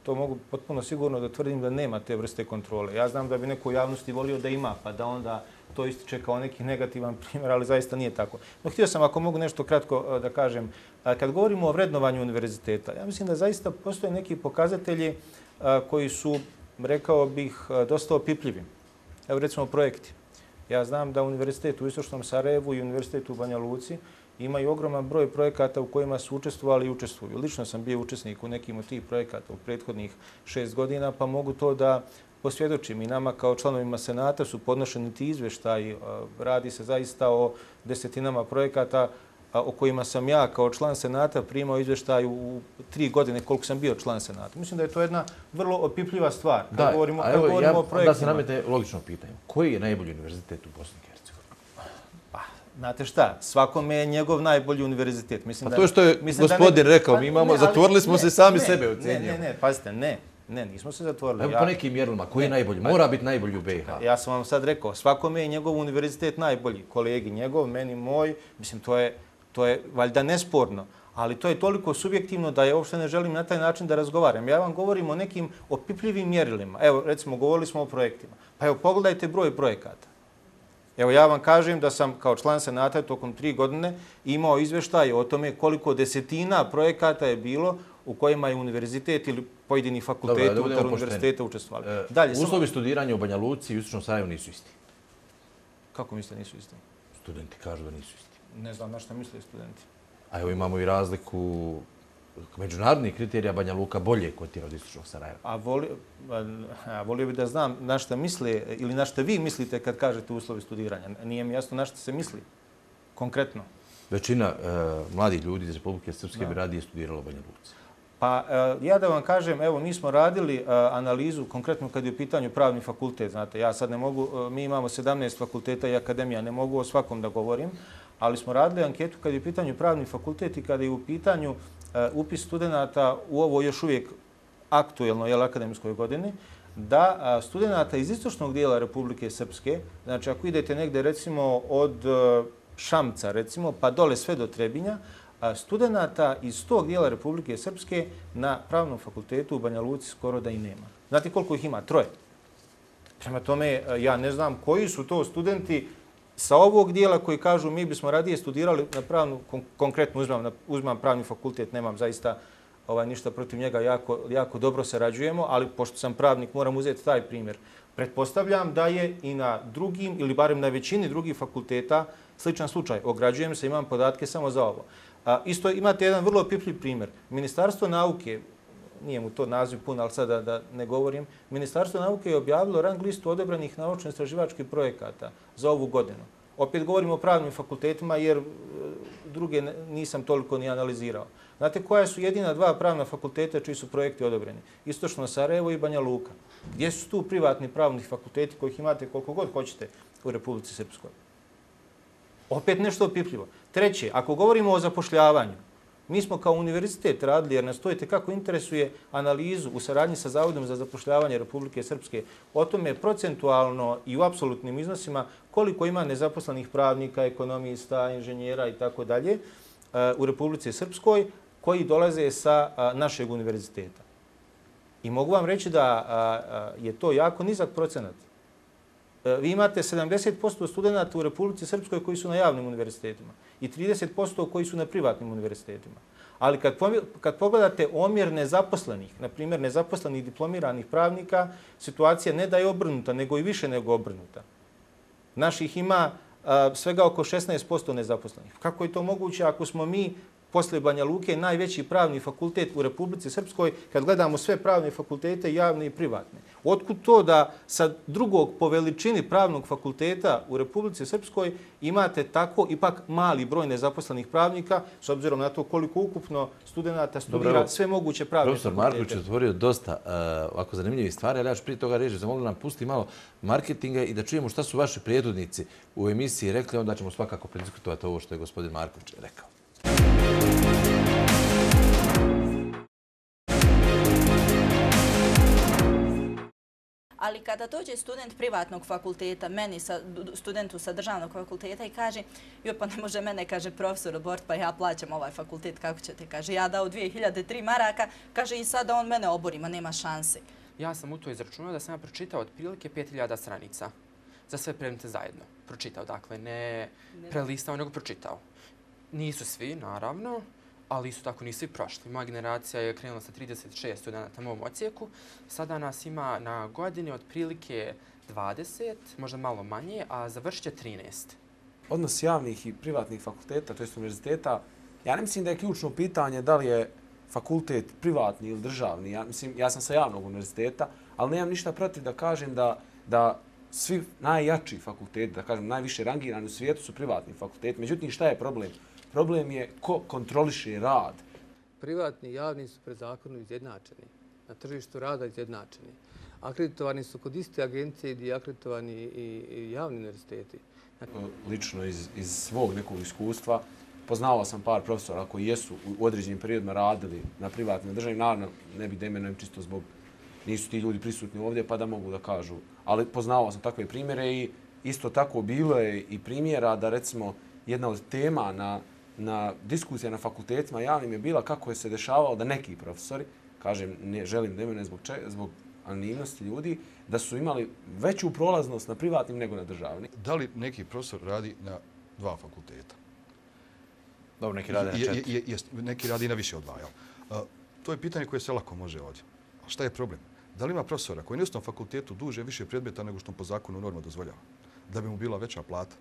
to mogu potpuno sigurno da tvrdim da nema te vrste kontrole. Ja znam da bi neko u javnosti volio da ima, pa da onda to ističe kao neki negativan primjer, ali zaista nije tako. No, htio sam, ako mogu nešto kratko da kažem, kad govorimo o vrednovanju univerziteta, ja mislim da zaista postoje neki pokazatelji koji su, rekao bih, dosta opipljivi. Evo recimo projekti. Ja znam da Univerzitet u Istočnom Sarajevu i Univerzitet u Banja Luci imaju ogroman broj projekata u kojima su učestvovali i učestvuju. Lično sam bio učesnik u nekim od tih projekata u prethodnih šest godina, pa mogu to da posvjedočim. I nama kao članovima Senata su podnošeni ti izvještaji. Radi se zaista o desetinama projekata o kojima sam ja kao član Senata primao izvještaj u tri godine koliko sam bio član Senata. Mislim da je to jedna vrlo opipljiva stvar. Kad Da, govorimo, a kad evo, govorimo ja, o projektima. da se namete logično pitanje. Koji je najbolji univerzitet u Bosni i Hercegovini? Pa, znate šta, svakome je njegov najbolji univerzitet. Mislim Pa to što je mislim gospodin ne, rekao, pa, mi imamo, ne, ali, zatvorili smo ne, se sami ne, sebe ne, ocjenjujemo. ne, ne, pazite, ne. Ne, nismo se zatvorili. Evo Ja- po nekim mjerilima, koji je Ne, najbolji? pa- Mora biti najbolji u B i H. Ja sam vam sad rekao, svakome je njegov univerzitet najbolji. Kolegi njegov, meni moj, mislim, to je, to je valjda nesporno. Ali to je toliko subjektivno da ja uopšte ne želim na taj način da razgovaram. Ja vam govorim o nekim opipljivim mjerilima. Evo, recimo, govorili smo o projektima. Pa evo, pogledajte broj projekata. Evo, ja vam kažem da sam kao član Senata tokom tri godine imao izveštaj o tome koliko desetina projekata je bilo u kojima je univerzitet ili pojedini fakulteti Dobro, da budemo unutar pošteni. univerziteta učestvovali. E, Dalje, samo- Uslovi studiranja u Banja Luci i u Istočnom Sarajevu nisu isti. Kako mislite nisu isti? Studenti kažu da nisu isti. Ne znam na šta misle studenti. A evo imamo i razliku međunarodnih kriterija Banja Luka bolje kotira od Istočnog Sarajeva. A, voli, a volio bih da znam na šta misle ili na šta vi mislite kad kažete uslovi studiranja. Nije mi jasno na šta se misli konkretno. Većina e, mladih ljudi iz Republike Srpske bi radije studirala u Banja Luci. Pa e, ja da vam kažem, evo mi smo radili e, analizu konkretno kad je u pitanju pravni fakultet. Znate, ja sad ne mogu, e, mi imamo sedamnaest fakulteta i akademija, ne mogu o svakom da govorim, ali smo radili anketu kad je u pitanju pravni fakultet i kada je u pitanju e, upis studenta u ovo još uvijek aktuelno jel, akademskoj godini, da a, studenta iz istočnog dijela Republike Srpske, znači ako idete negde recimo od e, Šamca recimo pa dole sve do Trebinja, a studenta iz tog dijela Republike Srpske na pravnom fakultetu u Banja Luci skoro da i nema. Znate koliko ih ima? Troje. Prema tome, ja ne znam koji su to studenti sa ovog dijela koji kažu mi bismo radije studirali na pravnu, kon konkretno uzmam, na, uzmam pravni fakultet, nemam zaista ovaj, ništa protiv njega, jako, jako dobro sarađujemo, ali pošto sam pravnik moram uzeti taj primjer. Pretpostavljam da je i na drugim ili barem na većini drugih fakulteta sličan slučaj. Ograđujem se, imam podatke samo za ovo. A, isto imate jedan vrlo opipljiv primjer. Ministarstvo nauke, nije mu to naziv pun, ali sada da ne govorim, Ministarstvo nauke je objavilo rang listu odabranih naučno-istraživačkih projekata za ovu godinu. Opet govorimo o pravnim fakultetima jer e, druge nisam toliko ni analizirao. Znate koja su jedina dva pravna fakulteta čiji su projekti odobreni? Istočno Sarajevo i Banja Luka. Gdje su tu privatni pravni fakulteti kojih imate koliko god hoćete u Republici Srpskoj? Opet nešto opipljivo. Treće, ako govorimo o zapošljavanju, mi smo kao univerzitet radili, jer nas to kako interesuje analizu u saradnji sa Zavodom za zapošljavanje Republike Srpske, o tome procentualno i u apsolutnim iznosima koliko ima nezaposlenih pravnika, ekonomista, inženjera i tako dalje u Republici Srpskoj koji dolaze sa našeg univerziteta. I mogu vam reći da je to jako nizak procenat. Vi imate sedamdeset posto studenta u Republici Srpskoj koji su na javnim univerzitetima i trideset posto koji su na privatnim univerzitetima. Ali kad, kad pogledate omjer nezaposlenih, na primjer nezaposlenih diplomiranih pravnika, situacija ne da je obrnuta, nego i više nego obrnuta. Naših ima a, svega oko šesnaest posto nezaposlenih. Kako je to moguće ako smo mi posle Banja Luke najveći pravni fakultet u Republici Srpskoj kad gledamo sve pravne fakultete, javne i privatne? Otkud to da sa drugog po veličini pravnog fakulteta u Republici Srpskoj imate tako ipak mali broj nezaposlenih pravnika s obzirom na to koliko ukupno studenta studira Dobro, sve moguće pravne profesor fakultete? Marković je otvorio dosta uh, ovako zanimljivih stvari, ali ja ću prije toga reći, zamolio nam pusti malo marketinga i da čujemo šta su vaši prijedodnici u emisiji rekli, onda ćemo svakako prediskutovati ovo što je gospodin Marković rekao. Ali kada dođe student privatnog fakulteta, meni, sa, studentu sa državnog fakulteta i kaže joj pa ne može mene, kaže profesor Bort, pa ja plaćam ovaj fakultet, kako ćete, kaže ja dao dvije hiljade tri maraka, kaže i sada on mene obori, ma nema šanse. Ja sam u to izračunao da sam ja pročitao otprilike pet hiljada stranica za sve predmete zajedno. Pročitao, dakle, ne prelistao, nego pročitao. Nisu svi, naravno, ali isto tako nisu i prošli. Moja generacija je krenula sa trideset šest studenta u mom ocijeku. Sada nas ima na godini otprilike dvadeset, možda malo manje, a završit će trinaest. Odnos javnih i privatnih fakulteta, to jest univerziteta, ja ne mislim da je ključno pitanje da li je fakultet privatni ili državni. Ja, mislim, ja sam sa javnog univerziteta, ali nemam ništa protiv da kažem da, da svi najjači fakulteti, da kažem najviše rangirani u svijetu su privatni fakulteti. Međutim, šta je problem? Problem je ko kontroliše rad. Privatni i javni su pred zakonom izjednačeni. Na tržištu rada izjednačeni. Akreditovani su kod iste agencije gdje je akreditovani i, i javni univerziteti. Lično iz, iz svog nekog iskustva poznavao sam par profesora koji jesu u određenim periodima radili na privatnim državnim. Naravno, ne bih da imenujem čisto zbog nisu ti ljudi prisutni ovdje pa da mogu da kažu. Ali poznavao sam takve primjere i isto tako bilo je i primjera da recimo jedna od tema na, na diskusija na fakultetima javnim je bila kako je se dešavalo da neki profesori, kažem, ne želim da imenujem zbog, če, zbog anonimnosti ljudi, da su imali veću prolaznost na privatnim nego na državnim. Da li neki profesor radi na dva fakulteta? Dobro, neki radi na četiri. Je, je, je, neki radi na više od dva, jel? Uh, to je pitanje koje se lako može ovdje. A šta je problem? Da li ima profesora koji na istom fakultetu duže više predmeta nego što po zakonu norma dozvoljava? Da bi mu bila veća plata.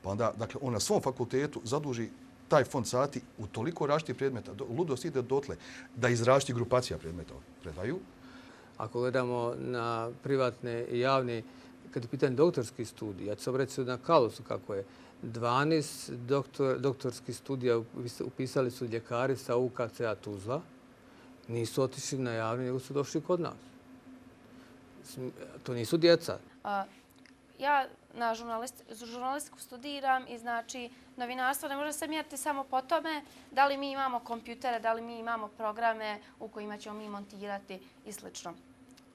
Pa onda, dakle, on na svom fakultetu zaduži taj fond sati u toliko različitih predmeta, ludost ide dotle da iz različitih grupacija predmeta predaju. Ako gledamo na privatne i javne, kad je pitanje doktorski studij, ja ću se obreći na Kalosu kako je, dvanaest doktor, doktorskih studija upisali su ljekari sa U K C-a Tuzla, nisu otišli na javni, nego su došli kod nas. To nisu djeca. A, ja na žurnalist, žurnalistiku studiram i znači novinarstvo ne može se mjeriti samo po tome da li mi imamo kompjutere, da li mi imamo programe u kojima ćemo mi montirati i sl.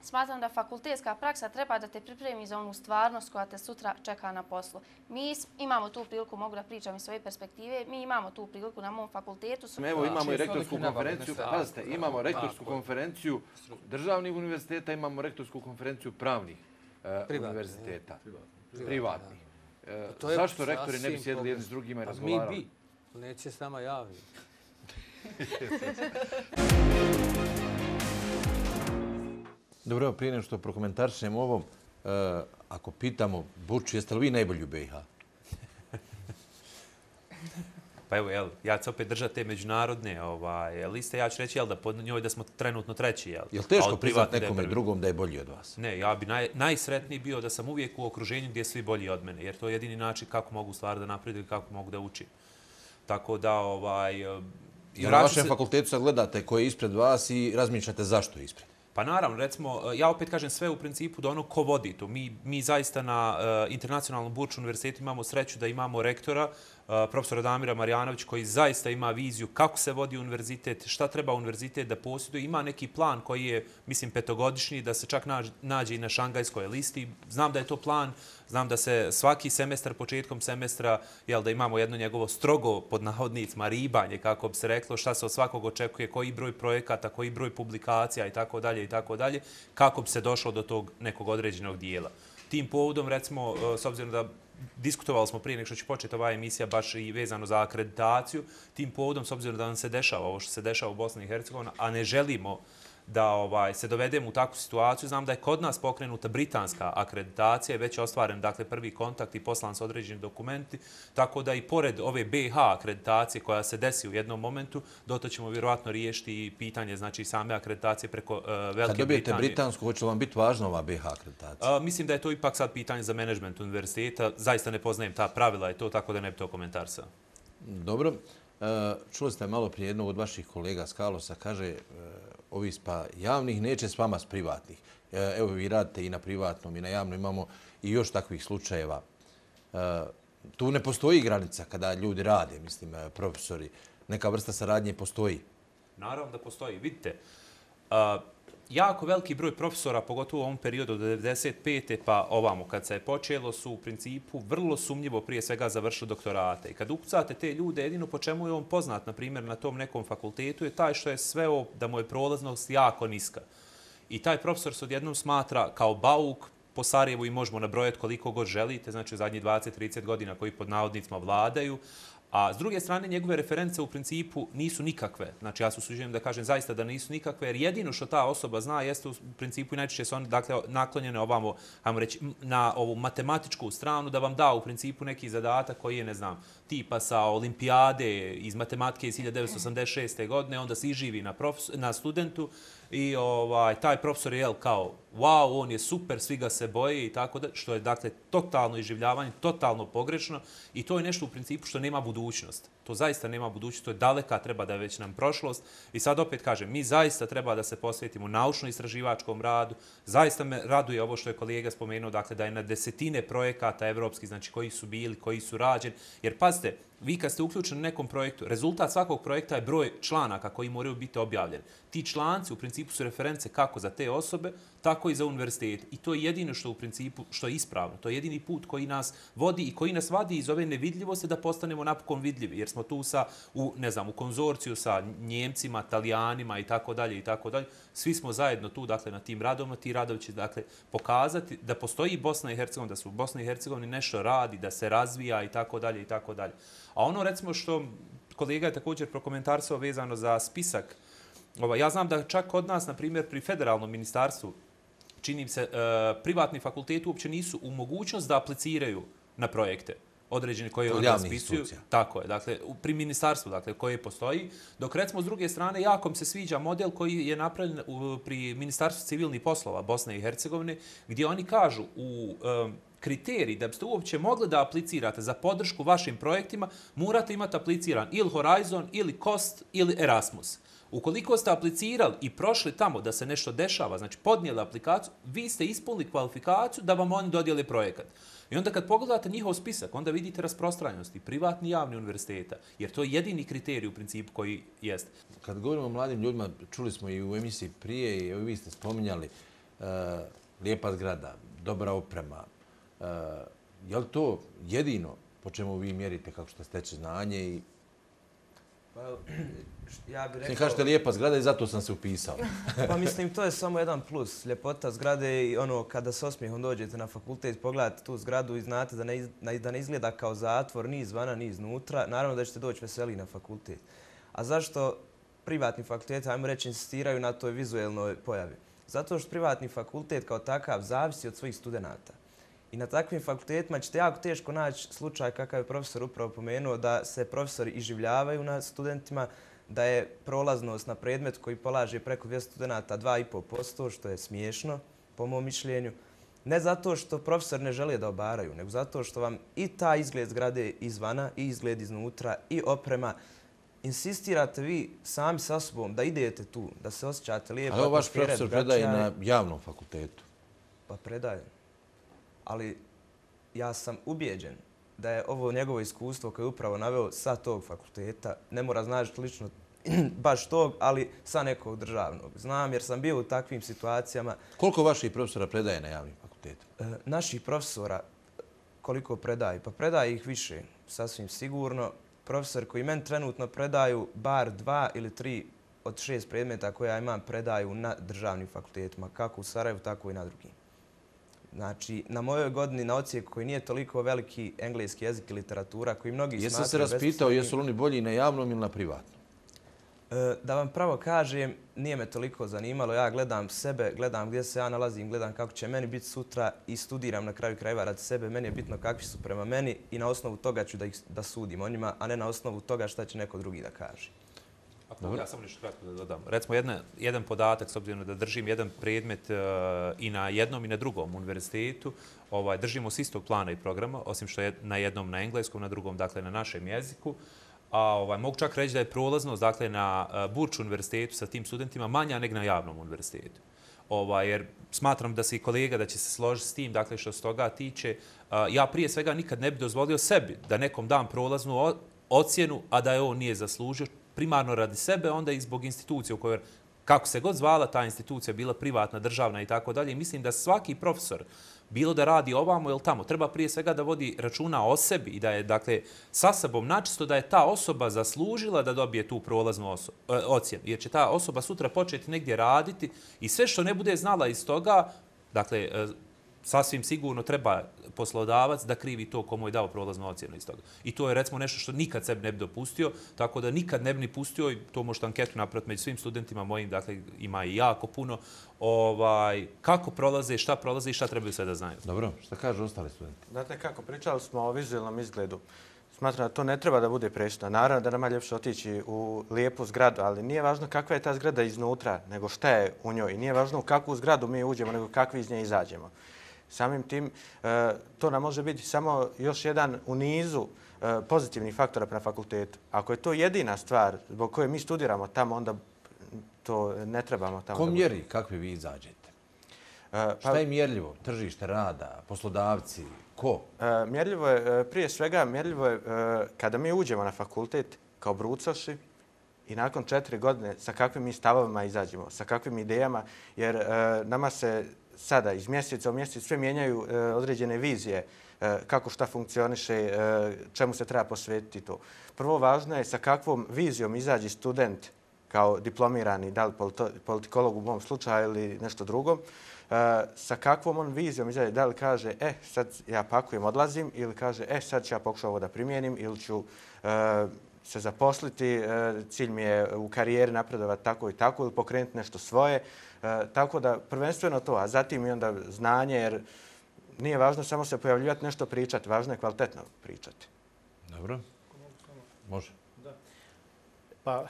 Smatram da fakultetska praksa treba da te pripremi za onu stvarnost koja te sutra čeka na poslu. Mi imamo tu priliku, mogu da pričam iz svoje perspektive, mi imamo tu priliku na mom fakultetu. Evo imamo i rektorsku konferenciju, pazite, imamo rektorsku konferenciju državnih univerziteta, imamo rektorsku konferenciju pravnih univerziteta. Privatnih. Zašto rektori ne bi sjedili jedni s drugima i razgovarali? Mi bi. Neće s nama javni. Dobro, evo, prije nego što prokomentarišemo ovo, ako pitamo Burču, jeste li vi najbolji u B i H? Pa evo, jel, ja ću opet držati te međunarodne ovaj, liste. Ja ću reći jel, da pod njoj da smo trenutno treći. Jel, jel teško priznati nekome drugom da je bolji od vas? Ne, ja bi naj, najsretniji bio da sam uvijek u okruženju gdje je svi bolji od mene. Jer to je jedini način kako mogu stvari da napreduju i kako mogu da učim. Tako da, ovaj... I na vašem se... fakultetu sad gledate ko je ispred vas i razmišljate zašto je ispred? Pa naravno, recimo, ja opet kažem sve u principu da ono ko vodi to. Mi, mi zaista na uh, Internacionalnom Burču univerzitetu imamo sreću da imamo rektora, uh, profesora Damira Marjanović, koji zaista ima viziju kako se vodi univerzitet, šta treba univerzitet da posjeduje. Ima neki plan koji je, mislim, petogodišnji, da se čak nađe, nađe i na šangajskoj listi. Znam da je to plan, znam da se svaki semestar, početkom semestra, jel, da imamo jedno njegovo strogo, pod navodnicima, ribanje, kako bi se reklo, šta se od svakog očekuje, koji broj projekata, koji broj publikacija i tako dalje i tako dalje, kako bi se došlo do tog nekog određenog dijela. Tim povodom, recimo, s obzirom da diskutovali smo prije nek što će početi ova emisija baš i vezano za akreditaciju, tim povodom, s obzirom da nam se dešava ovo što se dešava u Bosni i Hercegovini, a ne želimo da ovaj, se dovedemo u takvu situaciju. Znam da je kod nas pokrenuta britanska akreditacija i već je ostvaren dakle, prvi kontakt i poslan s određenim dokumenti, tako da i pored ove B i H akreditacije koja se desi u jednom momentu, doto ćemo vjerovatno riješiti i pitanje znači, same akreditacije preko uh, Velike Britanije. Kad dobijete Britanije. Britansku, hoće vam biti važna ova B i H akreditacija? Uh, mislim da je to ipak sad pitanje za menadžment univerziteta. Zaista ne poznajem ta pravila i to, tako da ne bi to komentarsao. Dobro. Uh, čuli ste malo prije jednog od vaših kolega s Kalosa, kaže uh, ovi spa javnih neće s vama s privatnih. Evo vi radite i na privatnom i na javnom, imamo i još takvih slučajeva. Tu ne postoji granica kada ljudi rade, mislim, profesori. Neka vrsta saradnje postoji. Naravno da postoji. Vidite, jako veliki broj profesora, pogotovo u ovom periodu od devedeset pete pa ovamo kad se je počelo, su u principu vrlo sumnjivo prije svega završili doktorate. I kad ukucate te ljude, jedino po čemu je on poznat, na primjer, na tom nekom fakultetu, je taj što je sveo da mu je prolaznost jako niska. I taj profesor se odjednom smatra kao bauk po Sarajevu i možemo nabrojati koliko god želite, znači u zadnjih dvadeset do trideset godina koji pod navodnicima vladaju. A s druge strane, njegove reference u principu nisu nikakve. Znači, ja se usuđujem da kažem zaista da nisu nikakve, jer jedino što ta osoba zna jeste u principu i najčešće su oni dakle, naklonjene ovamo, ajmo reći, na ovu matematičku stranu, da vam da u principu neki zadatak koji je, ne znam, tipa sa olimpijade iz matematike iz hiljadu devetsto osamdeset šeste. godine, onda se iživi na, na studentu i ovaj, taj profesor je jel, kao wow, on je super, svi ga se boje i tako da, što je dakle totalno iživljavanje, totalno pogrešno i to je nešto u principu što nema budućnost. To zaista nema budućnost, to je daleka, treba da je već nam prošlost. I sad opet kažem, mi zaista treba da se posvetimo naučno-istraživačkom radu. Zaista me raduje ovo što je kolega spomenuo, dakle, da je na desetine projekata evropskih, znači koji su bili, koji su rađeni. Jer pazite, vi kad ste uključeni u nekom projektu, rezultat svakog projekta je broj članaka koji moraju biti objavljeni. Ti članci u principu su reference kako za te osobe, tako i za univerzitet. I to je jedino što u principu što je ispravno. To je jedini put koji nas vodi i koji nas vadi iz ove nevidljivosti da postanemo napokon vidljivi. Jer smo tu sa, u, ne znam, u konzorciju sa Njemcima, Talijanima i tako dalje i tako dalje. Svi smo zajedno tu, dakle, na tim radovima. Ti radovi će, dakle, pokazati da postoji Bosna i Hercegovina, da su u Bosni i Hercegovini nešto radi, da se razvija i tako dalje i tako dalje. A ono, recimo, što kolega je također prokomentarsao vezano za spisak, ja znam da čak kod nas, na primjer, pri federalnom ministarstvu, čini se, privatni fakulteti uopće nisu u mogućnost da apliciraju na projekte određene koje oni raspisuju. Tako je, dakle, pri ministarstvu, dakle, koje postoji. Dok, recimo, s druge strane, jako mi se sviđa model koji je napravljen pri Ministarstvu civilnih poslova Bosne i Hercegovine, gdje oni kažu u kriteriji da biste uopće mogli da aplicirate za podršku vašim projektima, morate imati apliciran ili Horizon, ili Cost, ili Erasmus. Ukoliko ste aplicirali i prošli tamo da se nešto dešava, znači podnijeli aplikaciju, vi ste ispunili kvalifikaciju da vam oni dodijeli projekat. I onda kad pogledate njihov spisak, onda vidite rasprostranjenosti privatni i javni univerziteta, jer to je jedini kriterij u principu koji jeste. Kad govorimo o mladim ljudima, čuli smo i u emisiji prije i vi ste spominjali uh, lijepa zgrada, dobra oprema. Uh, je li to jedino po čemu vi mjerite kako što steče znanje i Pa, ja bih rekao... Kažete lijepa zgrada i zato sam se upisao. Pa mislim, to je samo jedan plus. Ljepota zgrade i ono, kada s osmijehom dođete na fakultet, pogledate tu zgradu i znate da ne, iz, da ne izgleda kao zatvor, ni izvana, ni iznutra. Naravno da ćete doći veseli na fakultet. A zašto privatni fakulteti, ajmo reći, insistiraju na toj vizuelnoj pojavi? Zato što privatni fakultet kao takav zavisi od svojih studenta. I na takvim fakultetima ćete jako teško naći slučaj kakav je profesor upravo pomenuo, da se profesori iživljavaju na studentima, da je prolaznost na predmet koji polaže preko dvjesto studenta dva i pol posto, što je smiješno, po mom mišljenju. Ne zato što profesori ne žele da obaraju, nego zato što vam i ta izgled zgrade izvana, i izgled iznutra, i oprema. Insistirate vi sami sa sobom da idete tu, da se osjećate lijepo. Ali ovo vaš profesor predaje na javnom fakultetu? Pa predaje. Ali ja sam ubijeđen da je ovo njegovo iskustvo koje je upravo naveo sa tog fakulteta. Ne mora znaći lično baš tog, ali sa nekog državnog. Znam jer sam bio u takvim situacijama. Koliko vaših profesora predaje na javnim fakultetima? Naših profesora koliko predaje? Pa predaje ih više, sasvim sigurno. Profesor koji meni trenutno predaju bar dva ili tri od šest predmeta koje ja imam predaju na državnim fakultetima, kako u Sarajevu, tako i na drugim. Znači, na mojoj godini na ocijeku koji nije toliko veliki engleski jezik i literatura, koji mnogi smatraju... Jesam se raspitao, jesu li oni bolji na javnom ili na privatnom? Da vam pravo kažem, nije me toliko zanimalo. Ja gledam sebe, gledam gdje se ja nalazim, gledam kako će meni biti sutra i studiram na kraju krajeva radi sebe. Meni je bitno kakvi su prema meni i na osnovu toga ću da, ih, da sudim o njima, a ne na osnovu toga šta će neko drugi da kaže. Ako ja samo nešto kratko da dodam. Recimo, jedna, jedan podatak, s obzirom da držim jedan predmet uh, i na jednom i na drugom univerzitetu, ovaj, držimo s istog plana i programa, osim što je na jednom na engleskom, na drugom, dakle, na našem jeziku. A ovaj, mogu čak reći da je prolaznost, dakle, na uh, Burč univerzitetu sa tim studentima manja nego na javnom univerzitetu. Ovaj, jer smatram da se i kolega da će se složiti s tim, dakle, što se toga tiče. Uh, ja prije svega nikad ne bi dozvolio sebi da nekom dam prolaznu ocjenu, a da je on nije zaslužio, primarno radi sebe, onda i zbog institucije u kojoj, kako se god zvala ta institucija, bila privatna, državna i tako dalje. Mislim da svaki profesor, bilo da radi ovamo ili tamo, treba prije svega da vodi računa o sebi i da je, dakle, sa sobom načisto da je ta osoba zaslužila da dobije tu prolaznu ocjenu. Jer će ta osoba sutra početi negdje raditi i sve što ne bude znala iz toga, dakle, sasvim sigurno treba poslodavac da krivi to komu je dao prolaznu ocjenu iz toga. I to je, recimo, nešto što nikad sebi ne bi dopustio, tako da nikad ne bi ni pustio, i to možete anketu napraviti među svim studentima mojim, dakle, ima i jako puno, ovaj, kako prolaze, šta prolaze i šta trebaju sve da znaju. Dobro, šta kažu ostali studenti? Znate kako, pričali smo o vizualnom izgledu. Smatram da to ne treba da bude presudno. Naravno da nama je ljepše otići u lijepu zgradu, ali nije važno kakva je ta zgrada iznutra, nego šta je u njoj. I nije važno u kakvu zgradu mi uđemo, nego kakvi iz nje izađemo. Samim tim, to nam može biti samo još jedan u nizu pozitivnih faktora prema fakultetu. Ako je to jedina stvar zbog koje mi studiramo tamo, onda to ne trebamo tamo. Ko mjeri kakvi vi izađete? Šta je mjerljivo? Tržište rada, poslodavci, ko? Mjerljivo je, prije svega, mjerljivo je kada mi uđemo na fakultet kao brucoši i nakon četiri godine sa kakvim mi stavovima izađemo, sa kakvim idejama, jer nama se sada iz mjeseca u mjesec sve mijenjaju određene vizije kako šta funkcioniše, čemu se treba posvetiti to. Prvo važno je sa kakvom vizijom izađe student kao diplomirani, da li politikolog u mom slučaju ili nešto drugo, sa kakvom on vizijom izađe, da li kaže, e, sad ja pakujem, odlazim, ili kaže, e, sad ću ja pokušati ovo da primijenim, ili ću se zaposliti, cilj mi je u karijeri napredovati tako i tako, ili pokrenuti nešto svoje. Tako da prvenstveno to, a zatim i onda znanje, jer nije važno samo se pojavljivati, nešto pričati, važno je kvalitetno pričati. Dobro. Može. Da. Pa,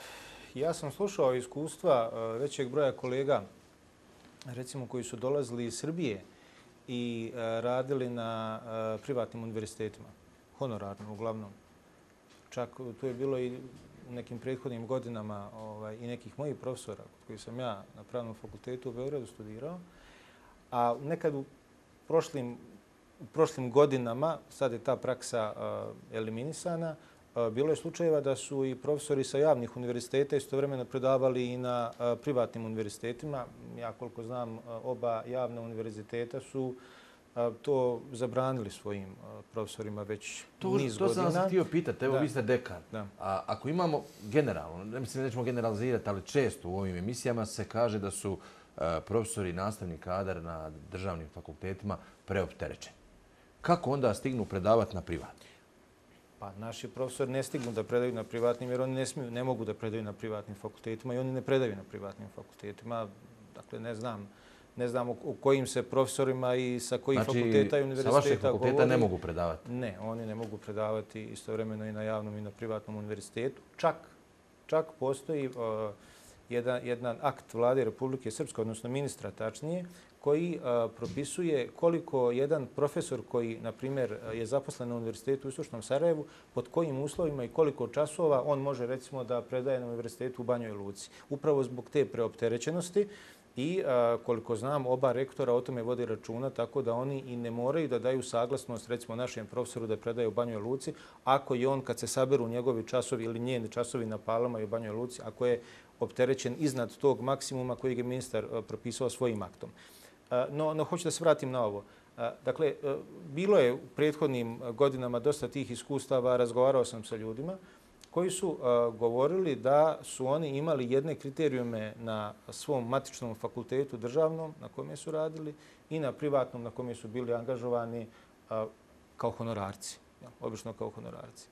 ja sam slušao iskustva većeg broja kolega, recimo koji su dolazili iz Srbije i radili na privatnim univerzitetima, honorarno uglavnom. Čak tu je bilo i u nekim prethodnim godinama ovaj, i nekih mojih profesora koji sam ja na Pravnom fakultetu u Beogradu studirao. A nekad u prošlim, u prošlim godinama, sad je ta praksa uh, eliminisana, uh, bilo je slučajeva da su i profesori sa javnih univerziteta istovremeno predavali i na uh, privatnim univerzitetima. Ja koliko znam, uh, oba javna univerziteta su to zabranili svojim profesorima već to, niz to godina. To sam vas htio pitati. Evo, da. vi ste dekan. Da. A ako imamo generalno, ne mislim da nećemo generalizirati, ali često u ovim emisijama se kaže da su uh, profesori i nastavni kadar na državnim fakultetima preopterećeni. Kako onda stignu predavati na privatnim? Pa naši profesori ne stignu da predaju na privatnim jer oni ne, smiju, ne mogu da predaju na privatnim fakultetima i oni ne predaju na privatnim fakultetima. Dakle, ne znam. Ne znam u kojim se profesorima i sa kojih znači, fakulteta i univerziteta govori. Sa vašeg fakulteta ne mogu predavati? Ne, oni ne mogu predavati istovremeno i na javnom i na privatnom univerzitetu. Čak, čak postoji uh, jedan, jedan akt Vlade Republike Srpske, odnosno ministra tačnije, koji uh, propisuje koliko jedan profesor koji, na primjer, je zaposlen na univerzitetu u Istočnom Sarajevu, pod kojim uslovima i koliko časova on može, recimo, da predaje na univerzitetu u Banjoj Luci. Upravo zbog te preopterećenosti. I a, koliko znam, oba rektora o tome vodi računa, tako da oni i ne moraju da daju saglasnost, recimo, našem profesoru da predaje u Banjoj Luci, ako je on, kad se saberu njegovi časovi ili njeni časovi na Palama i u Banjoj Luci, ako je opterećen iznad tog maksimuma koji je ministar a, propisao svojim aktom. A, no, no, hoću da se vratim na ovo. A, dakle, a, bilo je u prethodnim godinama dosta tih iskustava, razgovarao sam sa ljudima, koji su uh, govorili da su oni imali jedne kriterijume na svom matičnom fakultetu državnom na kome su radili i na privatnom na kome su bili angažovani uh, kao honorarci, ja, obično kao honorarci.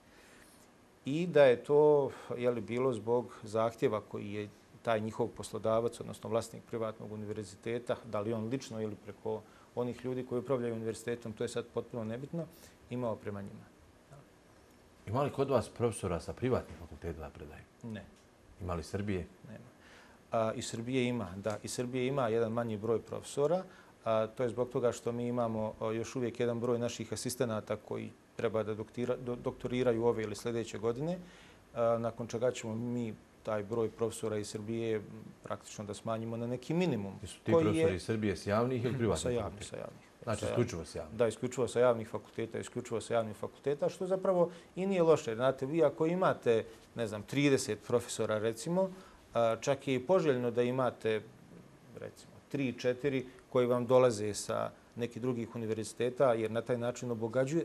I da je to jeli, bilo zbog zahtjeva koji je taj njihov poslodavac, odnosno vlasnik privatnog univerziteta, da li on lično ili preko onih ljudi koji upravljaju univerzitetom, to je sad potpuno nebitno, imao prema njima. Ima li kod vas profesora sa privatnih fakulteta da predaju? Ne. Ima li Srbije? Nema. A, I Srbije ima, da. I Srbije ima jedan manji broj profesora. A, to je zbog toga što mi imamo a, još uvijek jedan broj naših asistenata koji treba da doktira, do, doktoriraju ove ili sljedeće godine. A, nakon čega ćemo mi taj broj profesora iz Srbije praktično da smanjimo na neki minimum. Jesu ti profesori iz Srbije s javnih ili privatnih? Sa javnih, sa javnih. Znači, isključivo s javnih? Da, isključivo sa javnih fakulteta, isključivo sa javnih fakulteta, što zapravo i nije loše. Znate, vi ako imate, ne znam, trideset profesora, recimo, čak je i poželjno da imate, recimo, tri četiri koji vam dolaze sa nekih drugih univerziteta, jer na taj način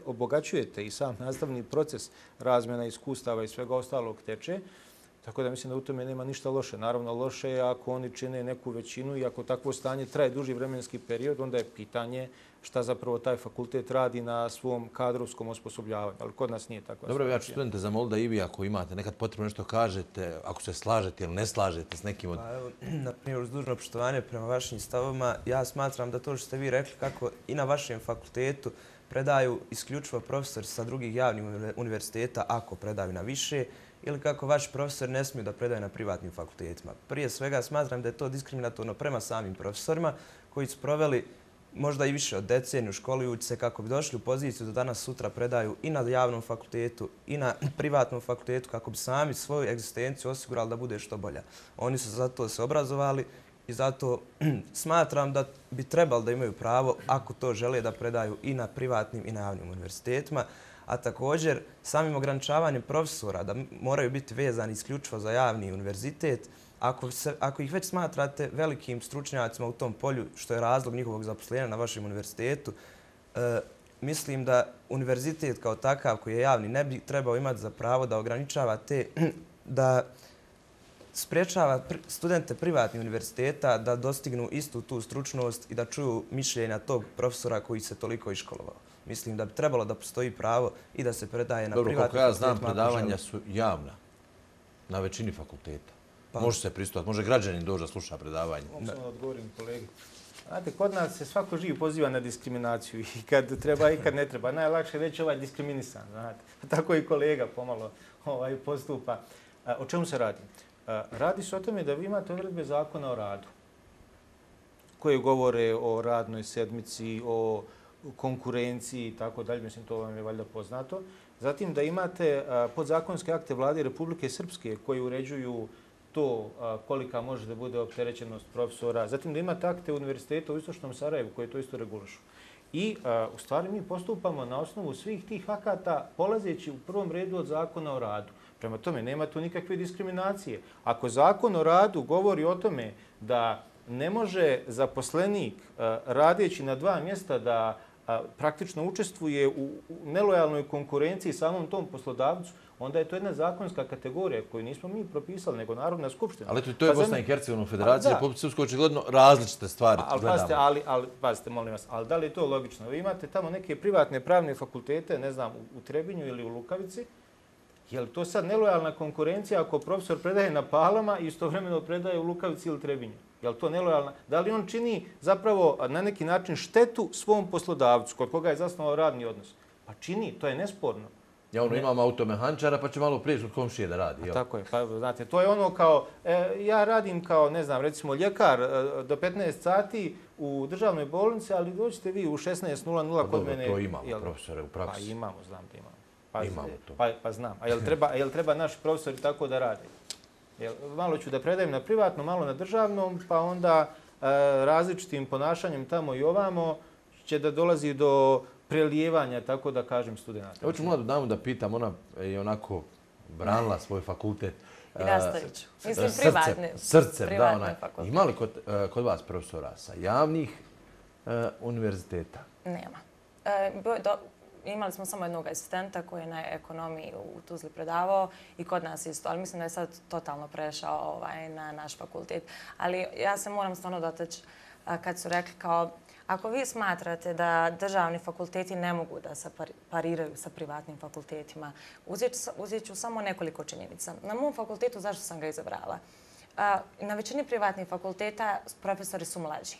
obogaćujete i sam nastavni proces razmjena iskustava i svega ostalog teče. Tako da mislim da u tome nema ništa loše. Naravno, loše je ako oni čine neku većinu i ako takvo stanje traje duži vremenski period, onda je pitanje šta zapravo taj fakultet radi na svom kadrovskom osposobljavanju. Ali kod nas nije takva Dobro, ja ću studente zamoliti da i vi ako imate nekad potrebno nešto kažete, ako se slažete ili ne slažete s nekim od... Pa evo, na primjer, uz dužno poštovanje prema vašim stavovima, ja smatram da to što ste vi rekli kako i na vašem fakultetu predaju isključivo profesori sa drugih javnih univerziteta ako predaju na više, ili kako vaši profesori ne smiju da predaju na privatnim fakultetima. Prije svega smatram da je to diskriminatorno prema samim profesorima koji su proveli možda i više od deceniju školujući se kako bi došli u poziciju da danas sutra predaju i na javnom fakultetu i na privatnom fakultetu kako bi sami svoju egzistenciju osigurali da bude što bolja. Oni su zato se obrazovali i zato smatram da bi trebali da imaju pravo, ako to žele, da predaju i na privatnim i na javnim univerzitetima, a također samim ograničavanjem profesora da moraju biti vezani isključivo za javni univerzitet. Ako, se, ako ih već smatrate velikim stručnjacima u tom polju, što je razlog njihovog zaposlenja na vašem univerzitetu, e, mislim da univerzitet kao takav koji je javni ne bi trebao imati za pravo da ograničava te, da spriječava studente privatnih univerziteta da dostignu istu tu stručnost i da čuju mišljenja tog profesora koji se toliko iškolovao. Mislim da bi trebalo da postoji pravo i da se predaje na privatnim fakultetima. Dobro, kako ja znam, predavanja su javna na većini fakulteta. Pa. Može se pristupati, može građanin doći da sluša predavanje. Mogu samo da odgovorim kolegi. Znate, kod nas se svako živ poziva na diskriminaciju i kad treba i kad ne treba. Najlakše reći ovaj diskriminisan, znate. Tako i kolega pomalo ovaj, postupa. O čemu se radi? Radi se o tome da vi imate odredbe zakona o radu koje govore o radnoj sedmici, o konkurenciji i tako dalje. Mislim, to vam je valjda poznato. Zatim da imate podzakonske akte vlade Republike Srpske koji uređuju to kolika može da bude opterećenost profesora. Zatim da imate akte univerziteta u Istočnom Sarajevu koji to isto regulišu. I u stvari mi postupamo na osnovu svih tih akata polazeći u prvom redu od zakona o radu. Prema tome, nema tu nikakve diskriminacije. Ako zakon o radu govori o tome da ne može zaposlenik radeći na dva mjesta da praktično učestvuje u nelojalnoj konkurenciji samom tom poslodavcu, onda je to jedna zakonska kategorija koju nismo mi propisali, nego Narodna skupština. Ali to je Bosna i Hercegovina federacija, Republika Srpska očigledno različite stvari gledamo. Ali, ali, pazite, molim vas, ali da li je to logično? Vi imate tamo neke privatne pravne fakultete, ne znam, u Trebinju ili u Lukavici. Je li to sad nelojalna konkurencija ako profesor predaje na Palama i istovremeno predaje u Lukavici ili Trebinju? Je li to nelojalna? Da li on čini zapravo na neki način štetu svom poslodavcu kod koga je zasnovao radni odnos? Pa čini, to je nesporno. Ja ono imam automehančara pa će malo prijeći od komšije da radi. A tako je, pa znate, to je ono kao, e, ja radim kao, ne znam, recimo ljekar e, do petnaest sati u državnoj bolnici, ali dođete vi u šesnaest nula nula kod mene. To imamo profesore u praksi. Pa imamo, znam da imamo. Pa, imamo to. Pa, pa znam. A jel treba, jel treba naši profesori tako da rade? Jel, malo ću da predajem na privatnom, malo na državnom, pa onda e, različitim ponašanjem tamo i ovamo će da dolazi do prelijevanja, tako da kažem, studenta. Hoću mladu damu da pitam, ona je onako branila svoj fakultet. I nastavit ću. Mislim, privatni. Srcem, da, ona. Ima li kod, kod vas profesora sa javnih uh, univerziteta? Nema. E, do, imali smo samo jednog asistenta koji je na ekonomiji u Tuzli predavao i kod nas isto, ali mislim da je sad totalno prešao ovaj, na naš fakultet. Ali ja se moram stvarno dotaći kad su rekli kao ako vi smatrate da državni fakulteti ne mogu da se pariraju sa privatnim fakultetima, uzet ću samo nekoliko činjenica. Na mom fakultetu, zašto sam ga izabrala? Na većini privatnih fakulteta profesori su mlađi.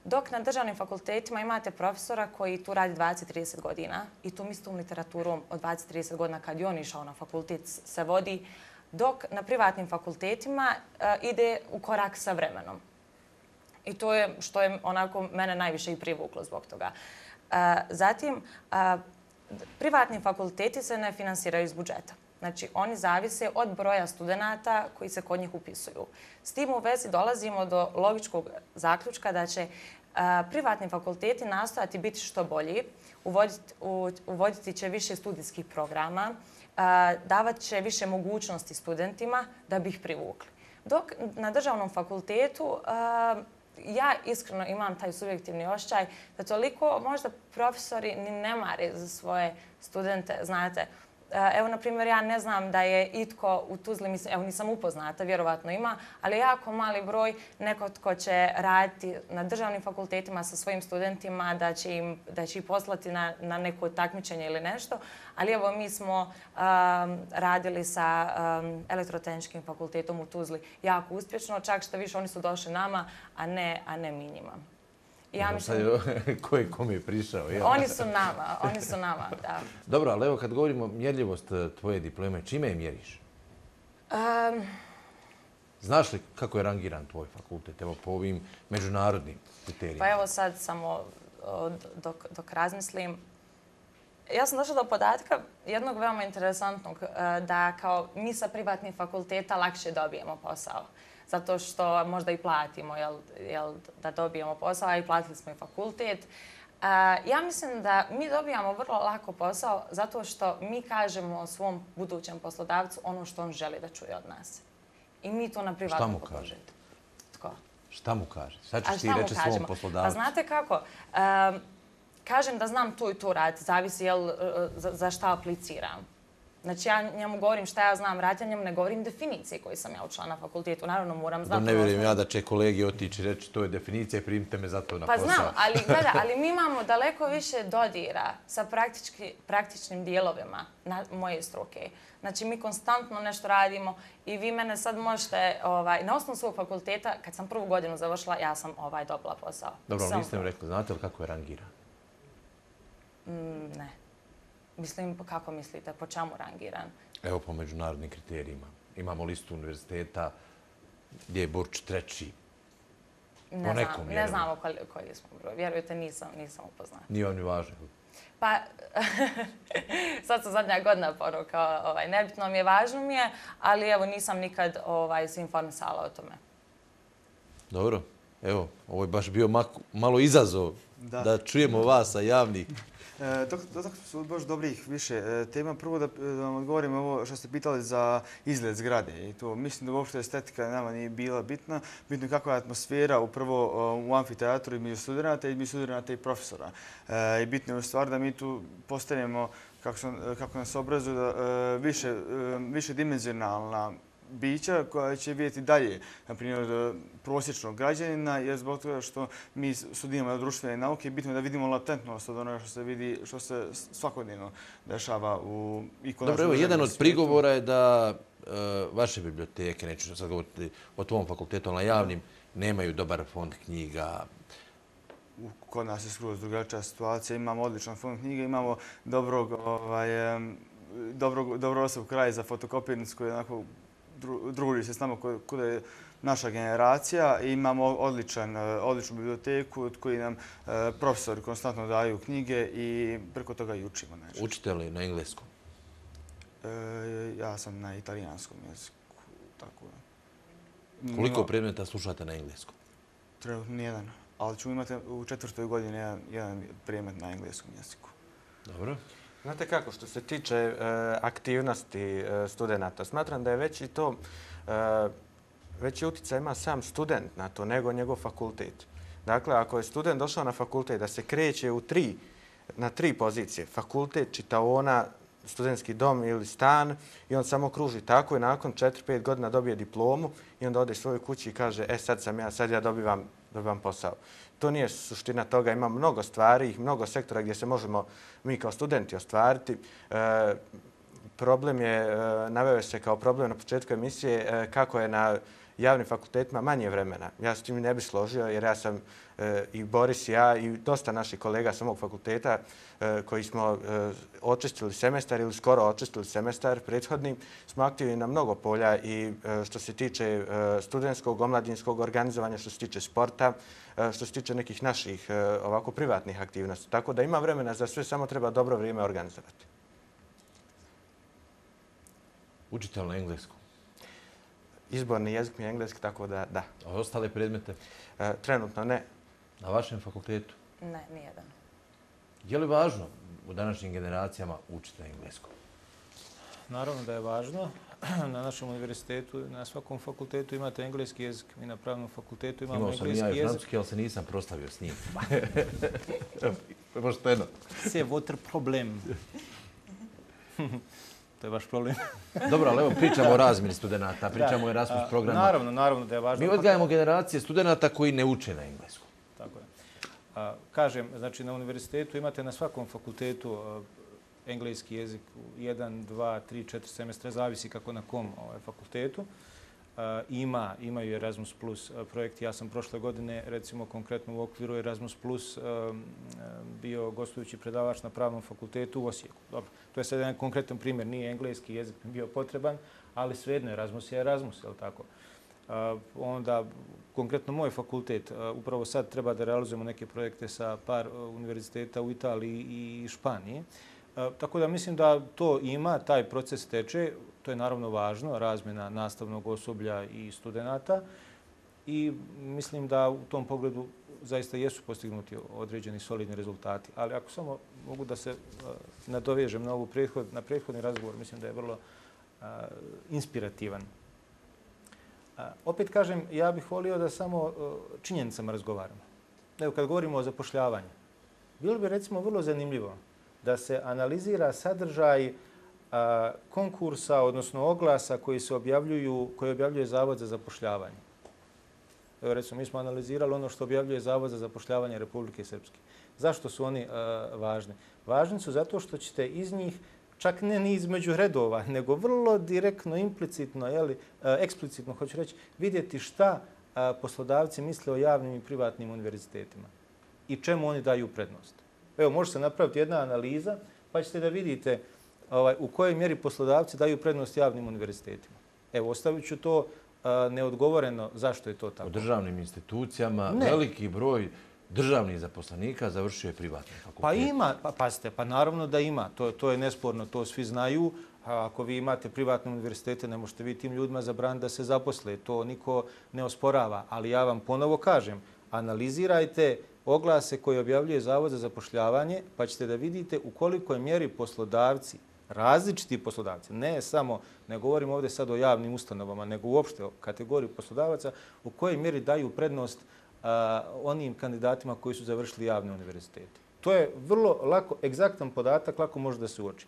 Dok na državnim fakultetima imate profesora koji tu radi dvadeset do trideset godina i tu mi s tom literaturom od dvadeset do trideset godina kad je on išao na fakultet se vodi, dok na privatnim fakultetima ide u korak sa vremenom. I to je što je onako mene najviše i privuklo zbog toga. Zatim, privatni fakulteti se ne finansiraju iz budžeta. Znači, oni zavise od broja studenta koji se kod njih upisuju. S tim u vezi dolazimo do logičkog zaključka da će privatni fakulteti nastojati biti što bolji, uvoditi, uvoditi će više studijskih programa, davat će više mogućnosti studentima da bi ih privukli. Dok na državnom fakultetu ja iskreno imam taj subjektivni osjećaj da toliko možda profesori ni ne mare za svoje studente, znate. Evo, na primjer, ja ne znam da je itko u Tuzli, mislim, evo nisam upoznata, vjerovatno ima, ali jako mali broj neko tko će raditi na državnim fakultetima sa svojim studentima, da će im, da će ih poslati na, na neko takmičenje ili nešto. Ali evo, mi smo um, radili sa um, elektrotehničkim fakultetom u Tuzli jako uspješno, čak što više oni su došli nama, a ne, a ne mi njima. Ja mislim... Ko je kome je prišao? Oni su nama, oni su nama, da. Dobro, ali evo kad govorimo mjerljivost tvoje diplome, čime je mjeriš? Um, Znaš li kako je rangiran tvoj fakultet, evo po ovim međunarodnim kriterijima? Pa evo sad samo dok, dok razmislim. Ja sam došla do podatka jednog veoma interesantnog, da kao mi sa privatnih fakulteta lakše dobijemo posao. Zato što možda i platimo jel, jel, da dobijemo posao, a i platili smo i fakultet. Ja mislim da mi dobijamo vrlo lako posao zato što mi kažemo svom budućem poslodavcu ono što on želi da čuje od nas. I mi to na privatnom fakultetu. Šta mu kaže? Tko? Šta mu kaže? Sad ćeš ti reći svom poslodavcu. Pa znate kako? Um, kažem da znam to i to raditi, zavisi jel, za, za šta apliciram. Znači ja njemu govorim šta ja znam raditi, ja njemu ne govorim definicije koje sam ja učila na fakultetu. Naravno moram znati... Ne vjerujem ja da će kolegi otići reći to je definicija i primite me za to na posao. Pa znam, ali, gleda, ali mi imamo daleko više dodira sa praktičnim dijelovima na moje struke. Znači mi konstantno nešto radimo i vi mene sad možete, ovaj, na osnovu svog fakulteta, kad sam prvu godinu završila, ja sam ovaj, dobila posao. Dobro, ali niste mi rekli, znate li kako je rangiran? Mm, ne. Mislim, kako mislite, po čemu rangiran? Evo po međunarodnim kriterijima. Imamo listu univerziteta gdje je Burč treći. Ne, znam, ne znamo koji, koji smo broj. Vjerujte, nisam, nisam upoznata. Nije vam ni važno. Pa, sad sam zadnja godina porukao, ovaj, nebitno mi je, važno mi je, ali evo nisam nikad ovaj, se informisala o tome. Dobro, evo, ovo je baš bio malo izazov da, da čujemo vas sa javnih. Dotakli su baš dobrih više tema. Prvo da, da vam odgovorim ovo što ste pitali za izgled zgrade. I to, mislim da uopšte estetika nama nije bila bitna. Bitno je kakva je atmosfera upravo u amfiteatru između studenta i između studenta i profesora. I bitno je u stvari da mi tu postanemo, kako, su, kako nas obrazuju, da, više, više dimenzionalna bića koja će vidjeti dalje, na primjer, prosječnog građanina, jer zbog toga što mi studiramo društvene nauke, bitno je da vidimo latentnost od onoga što se vidi, što se svakodnevno dešava u i kod nas. Dobro, evo, jedan od prigovora je da e, vaše biblioteke, neću sad govoriti o tvom fakultetu, ali na javnim, nemaju dobar fond knjiga. Kod nas je skroz drugačija situacija. Imamo odličan fond knjiga, imamo dobrog, ovaj, dobrog, dobro osob kraj za fotokopirnicu koji je onako druži se s nama kuda je naša generacija i imamo odličan, odličnu biblioteku od koji nam profesori konstantno daju knjige i preko toga i učimo. Nešto. Učite li na engleskom? E, ja sam na italijanskom jeziku. Tako. Koliko no, predmeta slušate na engleskom? Trenutno nijedan, ali ću imati u četvrtoj godini jedan, jedan predmet na engleskom jeziku. Dobro. Znate kako, što se tiče e, aktivnosti e, studenta, smatram da je već i to, e, veći utjecaj ima sam student na to nego njegov fakultet. Dakle, ako je student došao na fakultet da se kreće u tri, na tri pozicije, fakultet, čitaona, studentski dom ili stan i on samo kruži tako i nakon četiri pet godina dobije diplomu i onda ode svojoj kući i kaže e sad sam ja, sad ja dobivam, dobivam posao. To nije suština toga, ima mnogo stvari, mnogo sektora gdje se možemo mi kao studenti ostvariti. E, problem je, e, naveo se kao problem na početku emisije, e, kako je na javnim fakultetima manje vremena. Ja s tim ne bih složio jer ja sam e, i Boris i ja i dosta naših kolega sa mog fakulteta e, koji smo e, očistili semestar ili skoro očistili semestar prethodni, smo aktivni na mnogo polja i e, što se tiče e, studentskog, omladinskog organizovanja, što se tiče sporta, e, što se tiče nekih naših e, ovako privatnih aktivnosti. Tako da ima vremena za sve, samo treba dobro vrijeme organizovati. Učite li na engleskom? Izborni jezik mi je engleski, tako da da. A ostale predmete? E, trenutno ne. Na vašem fakultetu? Ne, nijedan. Je li važno u današnjim generacijama učiti na engleskom? Naravno da je važno. Na našem univerzitetu, na svakom fakultetu imate engleski jezik. Mi na pravnom fakultetu imamo engleski jezik. Imao sam i ja i francuski, ali se nisam proslavio s njim. Pošteno. C'est votre problème. To je vaš problem. Dobro, ali evo pričamo o razmjeni studenta, pričamo o Erasmus programu. Naravno, naravno da je važno. Mi odgajamo generacije studenta koji ne uče na engleskom. Tako je. A, kažem, znači na univerzitetu imate na svakom fakultetu a, engleski jezik u jedan, dva, tri, četiri semestra, zavisi kako na kom ovaj, fakultetu. A, ima, imaju Erasmus Plus projekti. Ja sam prošle godine, recimo konkretno u okviru Erasmus Plus, a, bio gostujući predavač na pravnom fakultetu u Osijeku. Dobro, to je sad jedan konkretan primjer. Nije engleski jezik bio potreban, ali svejedno Erasmus je Erasmus, je li tako? Onda, konkretno moj fakultet, upravo sad treba da realizujemo neke projekte sa par univerziteta u Italiji i Španiji. Tako da mislim da to ima, taj proces teče. To je naravno važno, razmjena nastavnog osoblja i studenta. I mislim da u tom pogledu zaista jesu postignuti određeni solidni rezultati. Ali ako samo mogu da se nadovežem na, ovu prethod, na prethodni razgovor, mislim da je vrlo a, inspirativan. A, opet kažem, ja bih volio da samo a, činjenicama razgovaramo. Evo, kad govorimo o zapošljavanju, bilo bi recimo vrlo zanimljivo da se analizira sadržaj a, konkursa, odnosno oglasa koji se objavljuju, koji objavljuje Zavod za zapošljavanje. Evo, recimo, mi smo analizirali ono što objavljuje Zavod za zapošljavanje Republike Srpske. Zašto su oni a, važni? Važni su zato što ćete iz njih, čak ne ni između redova, nego vrlo direktno, implicitno, jeli, a, eksplicitno, hoću reći, vidjeti šta a, poslodavci misle o javnim i privatnim univerzitetima i čemu oni daju prednost. Evo, može se napraviti jedna analiza, pa ćete da vidite ovaj, u kojoj mjeri poslodavci daju prednost javnim univerzitetima. Evo, ostavit ću to a, neodgovoreno zašto je to tako. U državnim institucijama ne. Veliki broj državnih zaposlenika završio je privatni fakultet. Pa ima, pa pazite, pa naravno da ima. To, to je nesporno, to svi znaju. A ako vi imate privatne univerzitete, ne možete vi tim ljudima zabraniti da se zaposle. To niko ne osporava. Ali ja vam ponovo kažem, analizirajte oglase koje objavljuje Zavod za zapošljavanje, pa ćete da vidite u kolikoj mjeri poslodavci, različiti poslodavci, ne samo, ne govorim ovdje sad o javnim ustanovama, nego uopšte o kategoriji poslodavaca, u kojoj mjeri daju prednost a, onim kandidatima koji su završili javne univerzitete. To je vrlo lako, egzaktan podatak, lako može da se uoči.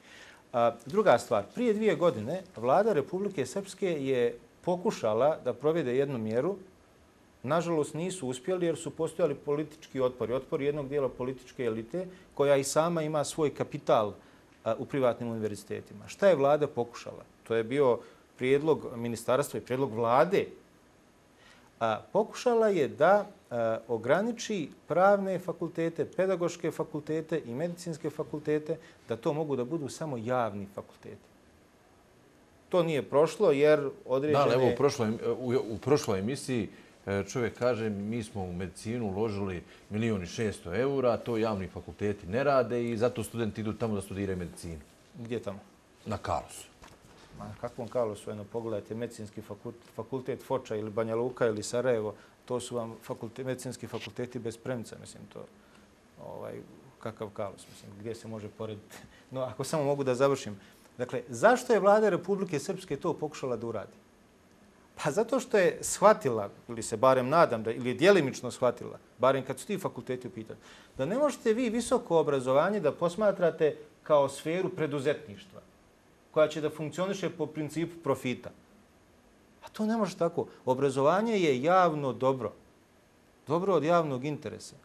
A, druga stvar, prije dvije godine Vlada Republike Srpske je pokušala da provede jednu mjeru. Nažalost, nisu uspjeli jer su postojali politički otpori. Otpori jednog dijela političke elite koja i sama ima svoj kapital a, u privatnim univerzitetima. Šta je Vlada pokušala? To je bio prijedlog ministarstva i prijedlog Vlade. A, pokušala je da a, ograniči pravne fakultete, pedagoške fakultete i medicinske fakultete, da to mogu da budu samo javni fakulteti. To nije prošlo jer određene... Da, evo, u prošloj, u, u prošloj emisiji čovjek kaže, mi smo u medicinu uložili milijon i šesto eura, to javni fakulteti ne rade i zato studenti idu tamo da studiraju medicinu. Gdje tamo? Na Karlosu. Ma, kakvom Karlosu? Eno, pogledajte, medicinski fakultet, fakultet Foča ili Banja Luka ili Sarajevo, to su vam fakultet, medicinski fakulteti bez premca, mislim, to, ovaj, kakav Karlos, mislim, gdje se može porediti. No, ako samo mogu da završim. Dakle, zašto je Vlada Republike Srpske to pokušala da uradi? Pa zato što je shvatila, ili se barem nadam, da, ili je djelimično shvatila, barem kad su ti fakulteti u pitanju, da ne možete vi visoko obrazovanje da posmatrate kao sferu preduzetništva, koja će da funkcioniše po principu profita. A to ne može tako. Obrazovanje je javno dobro. Dobro od javnog interesa.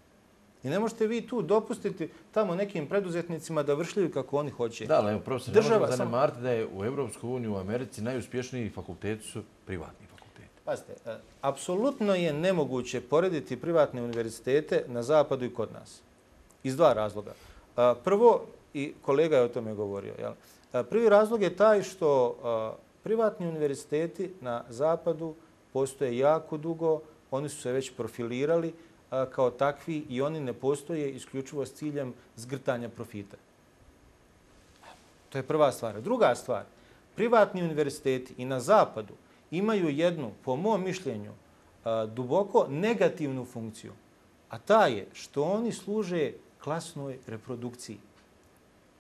I ne možete vi tu dopustiti tamo nekim preduzetnicima da vršljaju kako oni hoće. Da, ali evo, profesor, ne možemo zanemariti da je u Evropskoj uniji, u Americi, najuspješniji fakulteti su privatni fakulteti. Pazite, apsolutno je nemoguće porediti privatne univerzitete na zapadu i kod nas. Iz dva razloga. Prvo, i kolega je o tome govorio, jel? Prvi razlog je taj što privatni univerziteti na zapadu postoje jako dugo, oni su se već profilirali kao takvi i oni ne postoje isključivo s ciljem zgrtanja profita. To je prva stvar. Druga stvar, privatni univerziteti i na zapadu imaju jednu, po mom mišljenju, duboko negativnu funkciju, a ta je što oni služe klasnoj reprodukciji.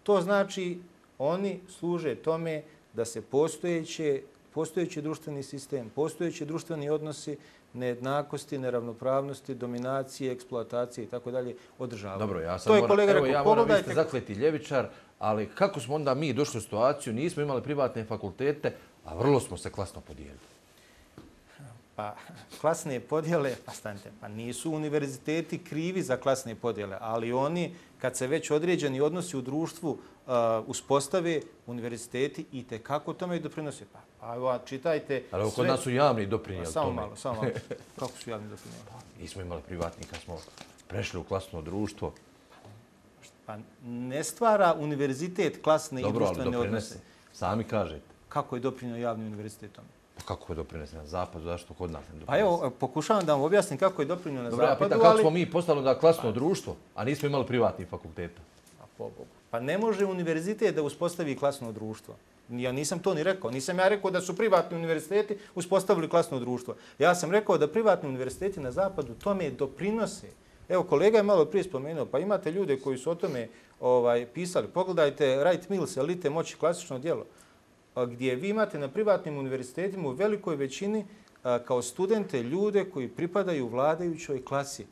To znači oni služe tome da se postojeće, postojeći društveni sistem, postojeći društveni odnosi, nejednakosti, neravnopravnosti, dominacije, eksploatacije i tako dalje održavaju. Dobro, ja sam to je moram, kolega evo, rekao, ja moram, vi ste pogledajte... zakleti ljevičar, ali kako smo onda mi došli u situaciju, nismo imali privatne fakultete, a vrlo smo se klasno podijelili. Pa, klasne podjele, pa stanite, pa nisu univerziteti krivi za klasne podjele, ali oni, kad se već određeni odnosi u društvu uh, uspostave, univerziteti i tekako tome i doprinose. Pa, pa evo, čitajte... Ali kod sve... nas su javni doprinijeli pa, samo tome. Samo malo, samo malo. Kako su javni doprinijeli? Nismo imali privatni kad smo prešli u klasno društvo. Pa ne stvara univerzitet klasne Dobro, i društvene odnose. Sami kažete. Kako je doprinio javni univerzitet tome? Pa kako je doprinese na zapadu, zašto kod nas ne doprinese? Pa evo, pokušavam da vam objasnim kako je doprinio na Dobro, zapadu, ja pitam, kako smo mi postali da klasno društvo, a nismo imali privatnih fakulteta? Pa ne može univerzitet da uspostavi klasno društvo. Ja nisam to ni rekao. Nisam ja rekao da su privatni univerziteti uspostavili klasno društvo. Ja sam rekao da privatni univerziteti na zapadu tome doprinose. Evo, kolega je malo prije spomenuo, pa imate ljude koji su o tome ovaj, pisali. Pogledajte Wright Mills, Elite moći, klasično djelo, gdje vi imate na privatnim univerzitetima u velikoj većini kao studente ljude koji pripadaju vladajućoj klasi.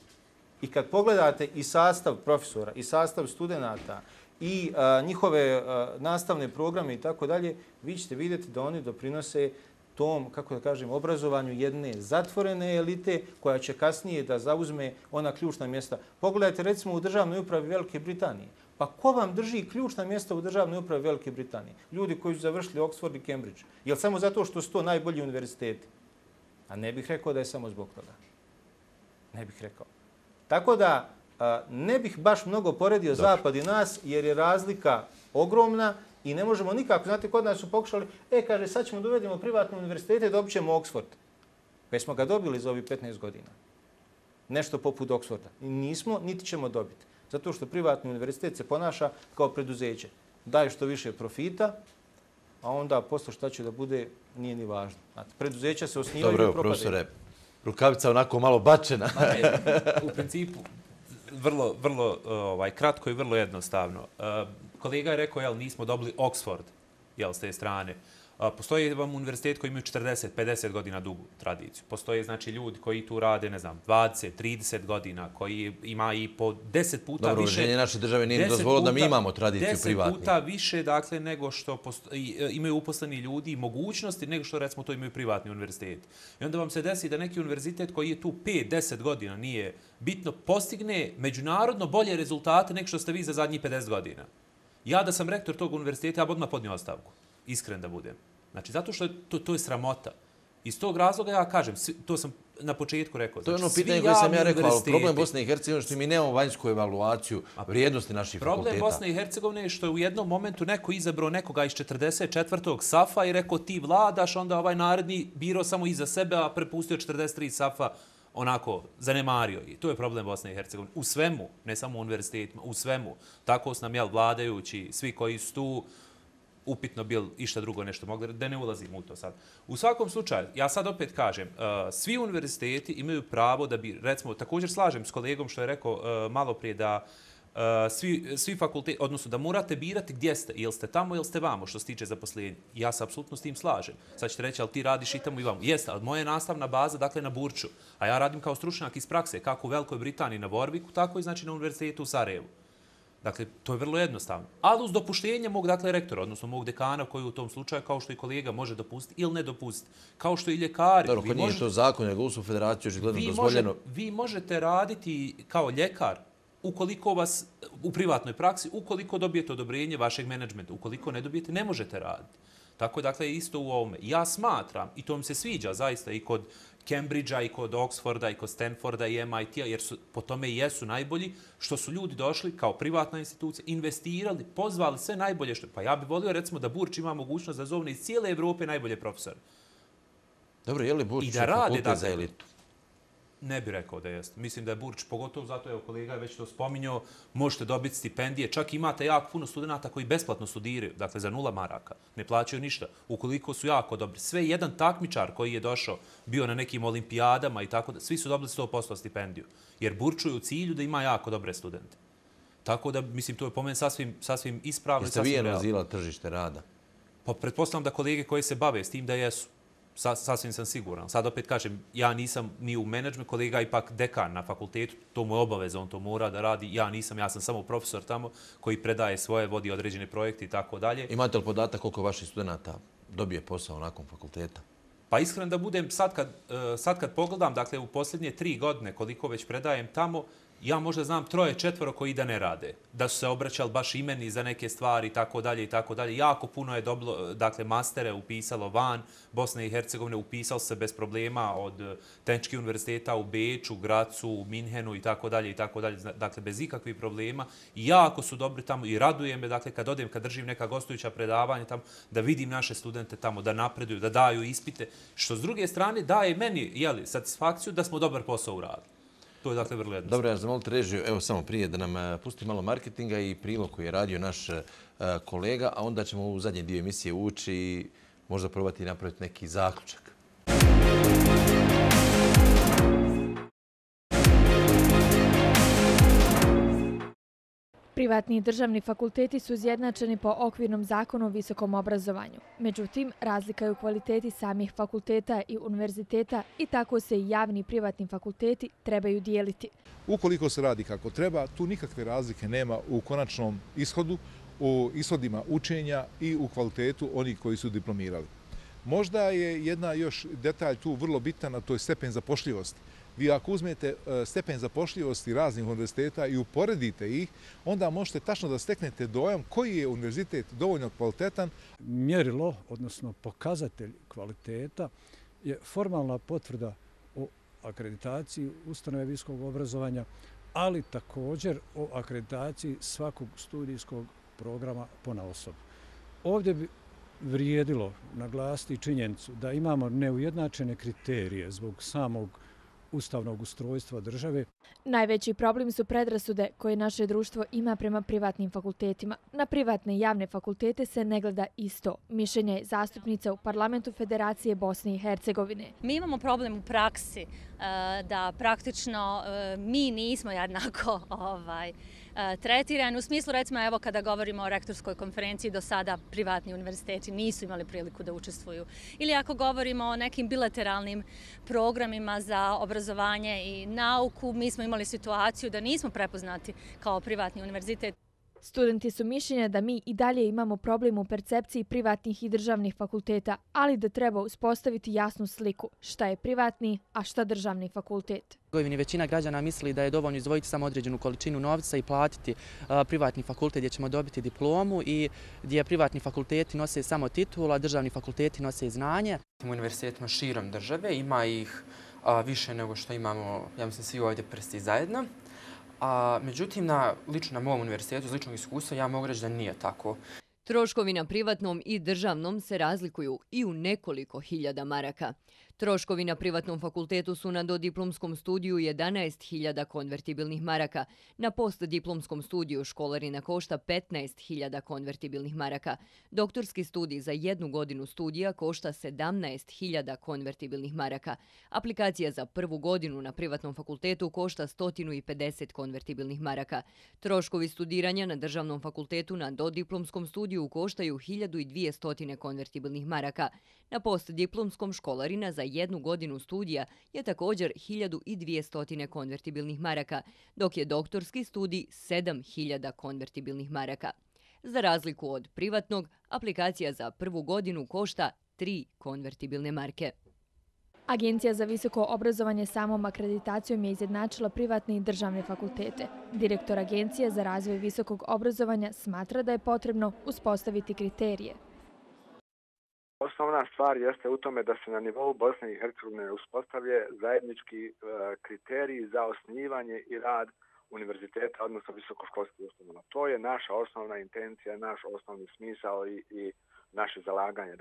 I kad pogledate i sastav profesora, i sastav studenta, i a, njihove a, nastavne programe i tako dalje, vi ćete vidjeti da oni doprinose tom, kako da kažem, obrazovanju jedne zatvorene elite koja će kasnije da zauzme ona ključna mjesta. Pogledajte recimo u državnoj upravi Velike Britanije. Pa ko vam drži ključna mjesta u državnoj upravi Velike Britanije? Ljudi koji su završili Oxford i Cambridge. Je li samo zato što su to najbolji univerziteti? A ne bih rekao da je samo zbog toga. Ne bih rekao. Tako da a, ne bih baš mnogo poredio Dobre. Zapad i nas, jer je razlika ogromna i ne možemo nikako. Znate, kod nas su pokušali, e, kaže, sad ćemo dovedemo privatne univerzitete i dobit ćemo Oxford. Već smo ga dobili za ovih petnaest godina. Nešto poput Oxforda. I nismo, niti ćemo dobiti. Zato što privatni univerzitet se ponaša kao preduzeće. Daje što više profita, a onda posle šta će da bude, nije ni važno. Znate, preduzeća se osnivaju i propadaju. Dobro, profesore, rukavica onako malo bačena. U principu, vrlo, vrlo ovaj, kratko i vrlo jednostavno. Kolega je rekao, jel, nismo dobili Oxford, jel, s te strane. Postoji vam univerzitet koji imaju četrdeset pedeset godina dugu tradiciju. Postoje, znači, ljudi koji tu rade, ne znam, dvadeset trideset godina, koji ima i po deset puta Dobro, više... Dobro, uređenje naše države nije dozvolilo da mi imamo tradiciju privatnih. deset puta više, dakle, nego što postoji, imaju uposleni ljudi i mogućnosti nego što, recimo, to imaju privatni univerzitet. I onda vam se desi da neki univerzitet koji je tu pet deset godina nije bitno, postigne međunarodno bolje rezultate nego što ste vi za zadnjih pedeset godina. Ja da sam rektor tog univerziteta, ja bi odmah podnio ostavku. Iskren da budem. Znači, zato što to, to je sramota. Iz tog razloga ja kažem, to sam na početku rekao. To je znači, ono pitanje koje sam ja rekao, ali problem Bosne i Hercegovine što mi nemamo vanjsku evaluaciju vrijednosti naših problem fakulteta. Problem Bosne i Hercegovine je što je u jednom momentu neko izabrao nekoga iz četrdeset četvrtog safa i rekao ti vladaš, onda ovaj naredni birao samo iza sebe, a prepustio četrdeset tri safa onako zanemario. I to je problem Bosne i Hercegovine. U svemu, ne samo u univerzitetima, u svemu. Tako su nam, jel, vladajući, svi koji su tu, upitno bil išta drugo nešto mogli, da ne ulazim u to sad. U svakom slučaju, ja sad opet kažem, uh, svi univerziteti imaju pravo da bi, recimo, također slažem s kolegom što je rekao uh, malo prije da uh, svi, svi fakulteti, odnosno da morate birati gdje ste, jel ste tamo ili ste vamo što se tiče zaposlenja. Ja se apsolutno s tim slažem. Sad ćete reći, ali ti radiš i tamo i vamo. Jeste, ali moja je nastavna baza, dakle, na Burču, a ja radim kao stručnjak iz prakse, kako u Velikoj Britaniji na Warwicku, tako i znači na univerzitetu u Sarajevu. Dakle, to je vrlo jednostavno. Ali uz dopuštenje mog, dakle, rektora, odnosno mog dekana koji u tom slučaju, kao što i kolega, može dopustiti ili ne dopustiti. Kao što i ljekari. Dobro, kod nije to zakon, nego u federaciju očigledno dozvoljeno. Vi možete raditi kao ljekar ukoliko vas u privatnoj praksi, ukoliko dobijete odobrenje vašeg menadžmenta. Ukoliko ne dobijete, ne možete raditi. Tako, dakle, isto u ovome. Ja smatram, i to mi se sviđa zaista i kod Cambridgea, i kod Oxforda, i kod Stanforda, i M I T-a, jer su, po tome i jesu najbolji, što su ljudi došli kao privatna institucija, investirali, pozvali sve najbolje što... Pa ja bih volio, recimo, da Burč ima mogućnost da zovne iz cijele Evrope najbolje profesore. Dobro, je li Burč fakultet za elitu? Ne bih rekao da jeste. Mislim da je Burč, pogotovo zato, evo, kolega je već to spominjao, možete dobiti stipendije. Čak imate jako puno studenta koji besplatno studiraju, dakle za nula maraka, ne plaćaju ništa. Ukoliko su jako dobri. Sve jedan takmičar koji je došao, bio na nekim olimpijadama i tako da, svi su dobili sto posto stipendiju. Jer Burču je u cilju da ima jako dobre studente. Tako da, mislim, to je po meni sasvim, sasvim ispravno. Jeste vi analizirali tržište rada? Pa pretpostavljam da kolege koji se bave s tim da jesu. Sasvim sam siguran. Sad opet kažem, ja nisam ni u menadžmentu, kolega ipak dekan na fakultetu, to mu je obaveza, on to mora da radi. Ja nisam, ja sam samo profesor tamo koji predaje svoje, vodi određene projekte i tako dalje. Imate li podatak koliko vaših studenta dobije posao nakon fakulteta? Pa iskreno da budem, sad kad, sad kad pogledam, dakle u posljednje tri godine koliko već predajem tamo, ja možda znam troje, četvoro koji da ne rade. Da su se obraćali baš i meni za neke stvari i tako dalje i tako dalje. Jako puno je dobilo, dakle, mastere upisalo van Bosne i Hercegovine, upisalo se bez problema od Tehničkih univerziteta u Beču, Gracu, u Minhenu i tako dalje i tako dalje. Dakle, bez ikakvih problema. I jako su dobri tamo i raduje me, dakle, kad odem, kad držim neka gostujuća predavanja tamo, da vidim naše studente tamo, da napreduju, da daju ispite, što s druge strane daje meni, jeli, satisfakciju da smo dobar posao uradili. To je dakle vrlo jednostavno. Dobro, ja zamolite režiju, evo samo prije da nam pusti malo marketinga i prilog koji je radio naš kolega, a onda ćemo u zadnji dio emisije ući i možda probati napraviti neki zaključak. Privatni i državni fakulteti su izjednačeni po okvirnom zakonu o visokom obrazovanju. Međutim, razlika je u kvaliteti samih fakulteta i univerziteta i tako se i javni i privatni fakulteti trebaju dijeliti. Ukoliko se radi kako treba, tu nikakve razlike nema u konačnom ishodu, u ishodima učenja i u kvalitetu onih koji su diplomirali. Možda je jedna još detalj tu vrlo bitan, a to je stepen zapošljivosti. Vi ako uzmete stepen zapošljivosti raznih univerziteta i uporedite ih, onda možete tačno da steknete dojam koji je univerzitet dovoljno kvalitetan. Mjerilo, odnosno pokazatelj kvaliteta, je formalna potvrda o akreditaciji ustanove visokog obrazovanja, ali također o akreditaciji svakog studijskog programa ponaosob. Ovdje bi vrijedilo naglasiti činjenicu da imamo neujednačene kriterije zbog samog ustavnog ustrojstva države. Najveći problem su predrasude koje naše društvo ima prema privatnim fakultetima. Na privatne i javne fakultete se ne gleda isto. Mišljenje je zastupnica u Parlamentu Federacije Bosne i Hercegovine. Mi imamo problem u praksi da praktično mi nismo jednako ovaj, tretirani. U smislu, recimo, evo kada govorimo o rektorskoj konferenciji, do sada privatni univerziteti nisu imali priliku da učestvuju. Ili ako govorimo o nekim bilateralnim programima za obrazovanje i nauku, mi smo imali situaciju da nismo prepoznati kao privatni univerzitet. Studenti su mišljenja da mi i dalje imamo problem u percepciji privatnih i državnih fakulteta, ali da treba uspostaviti jasnu sliku šta je privatni, a šta državni fakultet. Većina građana misli da je dovoljno izdvojiti samo određenu količinu novca i platiti privatni fakultet gdje ćemo dobiti diplomu i gdje privatni fakulteti nose samo titul, a državni fakulteti nose znanje. U univerzitetima širom države ima ih više nego što imamo, ja mislim, svi ovdje prsti zajedno. A, međutim, na, lično na mom univerzitetu, iz ličnog iskustva, ja mogu reći da nije tako. Troškovi na privatnom i državnom se razlikuju i u nekoliko hiljada maraka. Troškovi na privatnom fakultetu su na dodiplomskom studiju jedanaest hiljada konvertibilnih maraka. Na postdiplomskom studiju školarina košta petnaest hiljada konvertibilnih maraka. Doktorski studij za jednu godinu studija košta sedamnaest hiljada konvertibilnih maraka. Aplikacija za prvu godinu na privatnom fakultetu košta sto pedeset konvertibilnih maraka. Troškovi studiranja na državnom fakultetu na dodiplomskom studiju koštaju hiljadu dvjesto konvertibilnih maraka. Na postdiplomskom školarina za jednu godinu studija je također hiljadu dvjesto konvertibilnih maraka, dok je doktorski studij sedam hiljada konvertibilnih maraka. Za razliku od privatnog, aplikacija za prvu godinu košta tri konvertibilne marke. Agencija za visoko obrazovanje samom akreditacijom je izjednačila privatne i državne fakultete. Direktor Agencije za razvoj visokog obrazovanja smatra da je potrebno uspostaviti kriterije. Osnovna stvar jeste u tome da se na nivou Bosne i Hercegovine uspostavlje zajednički kriteriji za osnivanje i rad univerziteta, odnosno visokoškolskih ustanova. To je naša osnovna intencija, naš osnovni smisao i, i naše zalaganje.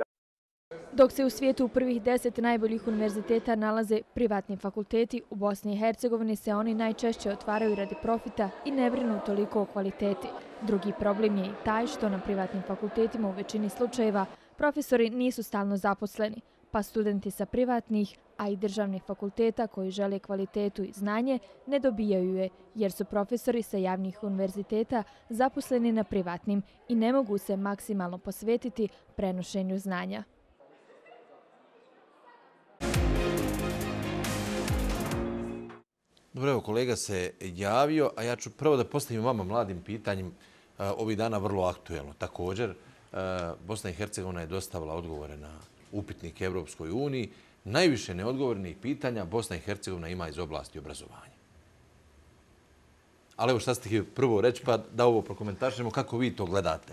Dok se u svijetu u prvih deset najboljih univerziteta nalaze privatni fakulteti, u Bosni i Hercegovini se oni najčešće otvaraju radi profita i ne brinu toliko o kvaliteti. Drugi problem je i taj što na privatnim fakultetima u većini slučajeva profesori nisu stalno zaposleni, pa studenti sa privatnih, a i državnih fakulteta koji žele kvalitetu i znanje ne dobijaju je, jer su profesori sa javnih univerziteta zaposleni na privatnim i ne mogu se maksimalno posvetiti prenošenju znanja. Dobro, evo, kolega se javio, a ja ću prvo da postavim vama mladim pitanjem ovih dana vrlo aktuelno. Također, Bosna i Hercegovina je dostavila odgovore na upitnik Evropskoj uniji. Najviše neodgovornih pitanja Bosna i Hercegovina ima iz oblasti obrazovanja. Ali evo šta ste htjeli prvo reći, pa da ovo prokomentarišemo, kako vi to gledate?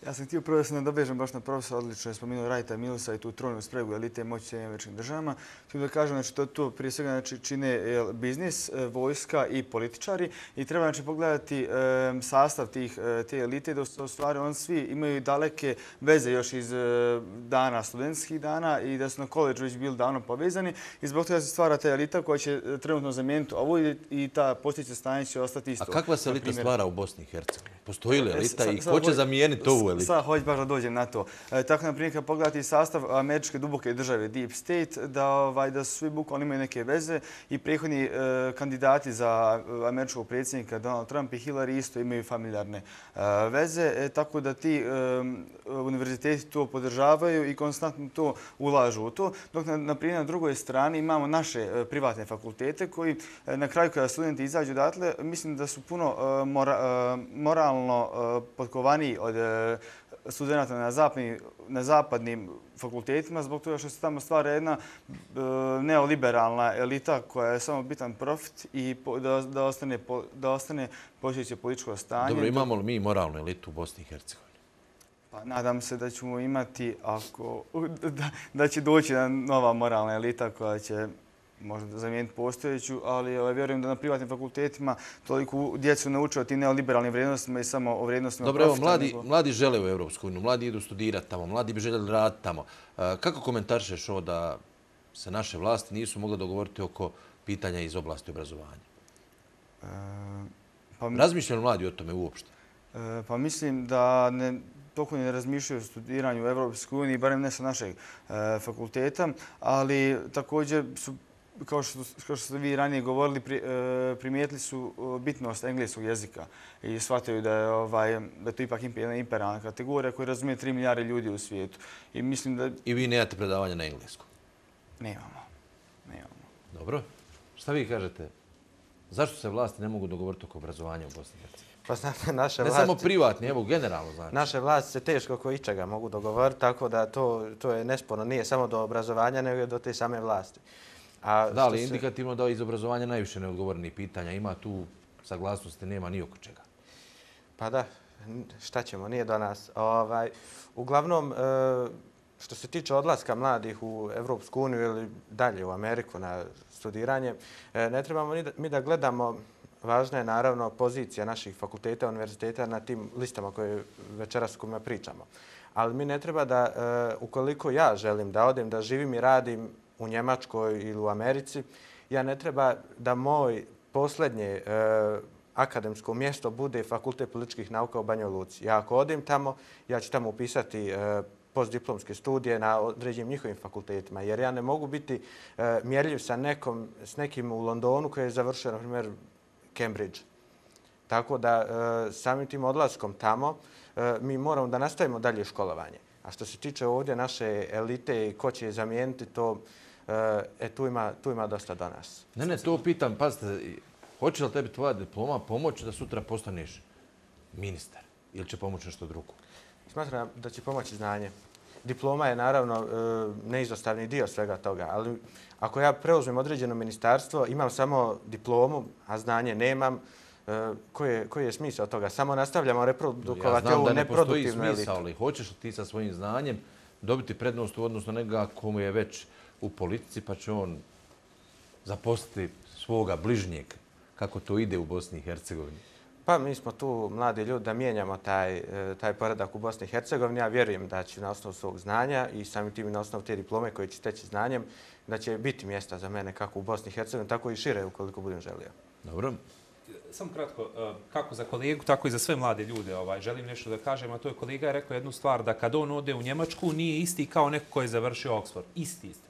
Ja sam htio prvo da se nadovežem baš na profesora, odlično je spomenuo Wrighta Millsa i tu trojnu spregu elite moći Sjedinjenih Američkih Država. Htio da kažem, znači, to, to prije svega znači, čine biznis, vojska i političari i treba znači, pogledati e, sastav tih, te elite da u stvari oni svi imaju daleke veze još iz e, dana, studentskih dana i da su na koleđu već bili davno povezani i zbog toga se stvara ta elita koja će trenutno zamijeniti ovo i ta postojeće stanje će ostati isto. A kakva se elita stvara u Bosni i Hercegovini? Postoji li elita i ko će zamijeniti ovu? Sada hoću baš da dođem na to. E, tako, na primjer, kad pogledati sastav američke duboke države, Deep State, da, ovaj, da svi bukvalno imaju neke veze i prethodni e, kandidati za američkog predsjednika Donald Trump i Hillary isto imaju familijarne e, veze, e, tako da ti e, univerziteti to podržavaju i konstantno to ulažu u to. Dok, na, na primjer, na drugoj strani imamo naše e, privatne fakultete koji e, na kraju kada studenti izađu odatle, mislim da su puno e, mora, e, moralno e, podkovaniji od e, studenta na, na zapadnim fakultetima, zbog toga što se tamo stvara jedna e, neoliberalna elita koja je samo bitan profit i po, da, da ostane, po, da ostane postojeće političko stanje. Dobro, imamo li mi moralnu elitu u Bosni i Hercegovini? Pa nadam se da ćemo imati, ako, da, da će doći nova moralna elita koja će možda zamijeniti postojeću, ali ovaj, vjerujem da na privatnim fakultetima toliko djecu nauče o tim neoliberalnim vrijednostima i samo o vrijednostima profita. Dobro, evo, mladi, nego... mladi žele u Evropsku uniju, mladi idu studirati tamo, mladi bi željeli raditi tamo. Kako komentarišeš ovo da se naše vlasti nisu mogle dogovoriti oko pitanja iz oblasti obrazovanja? E, pa, Razmišljaju mladi o tome uopšte? E, pa mislim da ne... toliko ne razmišljaju o studiranju u Evropskoj uniji, barem ne sa našeg e, fakulteta, ali također su, kao što, kao što ste vi ranije govorili, pri, e, primijetili su bitnost engleskog jezika i shvataju da je, ovaj, da je to ipak jedna imperialna kategorija koja razumije tri milijarde ljudi u svijetu. I, mislim da... I vi nemate predavanja na engleskom? Nemamo. Nemamo. Dobro. Šta vi kažete? Zašto se vlasti ne mogu dogovoriti oko obrazovanja u Bosni i Hercegovini? Pa znate, naše ne vlasti... Ne samo privatni, evo, generalno znači. Naše vlasti se teško oko ičega mogu dogovoriti, tako da to, to je nesporno. Nije samo do obrazovanja, nego do te same vlasti. A da li se... indikativno da iz obrazovanja najviše neodgovorenih pitanja? Ima tu saglasnosti, nema ni oko čega? Pa da, šta ćemo, nije do nas. Ovaj, uglavnom, što se tiče odlaska mladih u Evropsku uniju ili dalje u Ameriku na studiranje, ne trebamo ni da, mi da gledamo. Važna je naravno pozicija naših fakulteta, univerziteta na tim listama koje večeras s kojima pričamo. Ali mi ne treba da, ukoliko ja želim da odem, da živim i radim u Njemačkoj ili u Americi, ja ne treba da moj posljednje akademsko mjesto bude Fakultet političkih nauka u Banjoj Luci. Ja ako odem tamo, ja ću tamo upisati postdiplomske studije na određenim njihovim fakultetima, jer ja ne mogu biti mjerljiv sa nekom, s nekim u Londonu koji je završio, na primjer, Cambridge. Tako da e, samim tim odlaskom tamo e, mi moramo da nastavimo dalje školovanje. A što se tiče ovdje naše elite i ko će je zamijeniti, to e, e, tu, ima, tu ima dosta do nas. Ne, ne, to pitam, pazite, hoće li tebi tvoja diploma pomoći da sutra postaneš ministar ili će pomoći nešto drugo? Smatram da će pomoći znanje. Diploma je naravno neizostavni dio svega toga, ali ako ja preuzmem određeno ministarstvo, imam samo diplomu, a znanje nemam, koji je, koji je smisao toga? Samo nastavljamo reprodukovati ovu neproduktivnu elitu. Ja znam da ne postoji smisao, ali hoćeš li ti sa svojim znanjem dobiti prednost u odnosu na nekoga komu je već u politici, pa će on zaposliti svoga bližnjeg, kako to ide u Bosni i Hercegovini? Pa mi smo tu mladi ljudi da mijenjamo taj, taj poredak u Bosni i Hercegovini. Ja vjerujem da će na osnovu svog znanja i samim tim na osnovu te diplome koje će steći znanjem, da će biti mjesta za mene kako u Bosni i Hercegovini, tako i šire ukoliko budem želio. Dobro. Samo kratko, kako za kolegu, tako i za sve mlade ljude. Ovaj, želim nešto da kažem, a to je kolega je rekao jednu stvar, da kad on ode u Njemačku nije isti kao neko koji je završio Oxford. Isti, isti.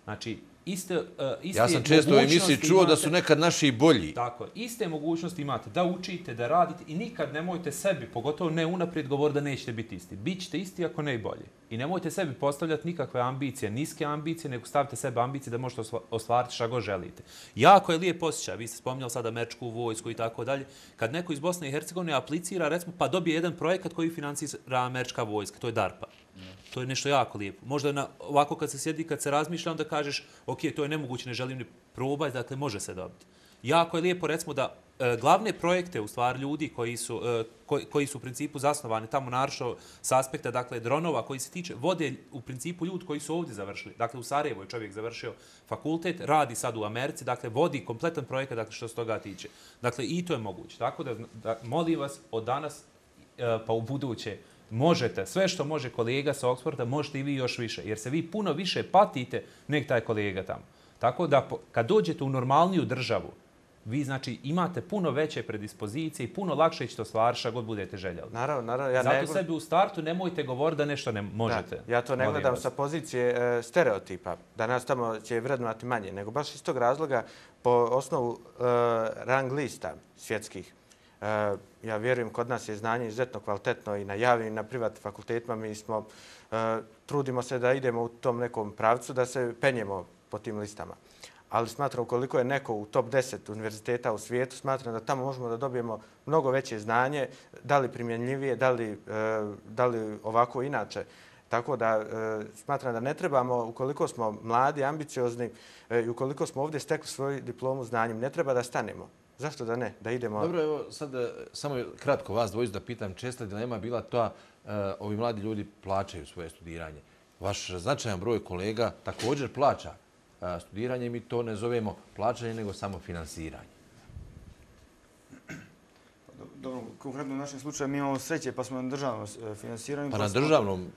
Znači, iste, uh, iste ja sam često u emisiji čuo imate, da su nekad naši bolji. Tako, iste mogućnosti imate da učite, da radite i nikad nemojte sebi, pogotovo ne unaprijed govor da nećete biti isti. Bićete isti ako ne i bolji. I nemojte sebi postavljati nikakve ambicije, niske ambicije, nego stavite sebe ambicije da možete ostvariti šta god želite. Jako je lijep osjećaj, vi ste spominjali sada američku vojsku i tako dalje, kad neko iz Bosne i Hercegovine aplicira, recimo, pa dobije jedan projekat koji financira američka vojska, to je DARPA. To je nešto jako lijepo. Možda na, ovako kad se sjedi, kad se razmišlja, onda kažeš, ok, to je nemoguće, ne želim ni probati, dakle može se dobiti. Jako je lijepo, recimo, da glavne projekte, u stvari, ljudi koji su, koji, koji su u principu zasnovani tamo naravno s aspekta, dakle, dronova koji se tiče, vode u principu ljudi koji su ovdje završili. Dakle, u Sarajevu je čovjek završio fakultet, radi sad u Americi, dakle, vodi kompletan projekat, dakle, što se toga tiče. Dakle, i to je moguće. Tako da, da molim vas, od danas pa u buduće, možete, sve što može kolega sa Oxforda, možete i vi još više, jer se vi puno više patite nek taj kolega tamo. Tako da, kad dođete u normalniju državu, vi, znači, imate puno veće predispozicije i puno lakše ćete ostvariti šta god budete željeli. Naravno, naravno. Ja Zato ne... sebi u startu nemojte govoriti da nešto ne možete. Da, ja to ne gledam sa pozicije e, stereotipa, da nas tamo će vrednovati manje, nego baš iz tog razloga po osnovu e, rang lista svjetskih. E, ja vjerujem, kod nas je znanje izuzetno kvalitetno i na javnim i na privatnim fakultetima. Mi smo, e, trudimo se da idemo u tom nekom pravcu, da se penjemo po tim listama. Ali smatram, ukoliko je neko u top deset univerziteta u svijetu, smatram da tamo možemo da dobijemo mnogo veće znanje, da li primjenljivije, da li, da li ovako inače. Tako da smatram da ne trebamo, ukoliko smo mladi, ambiciozni i ukoliko smo ovdje stekli svoju diplomu znanjem, ne treba da stanemo. Zašto da ne? Da idemo... Dobro, evo sad samo kratko vas dvojicu da pitam. Česta dilema bila to, ovi mladi ljudi plaćaju svoje studiranje. Vaš značajan broj kolega također plaća studiranje, mi to ne zovemo plaćanje, nego samo finansiranje. Dobro, konkretno u našem slučaju mi imamo sreće pa smo na državnom finansiranju. Pa na državnom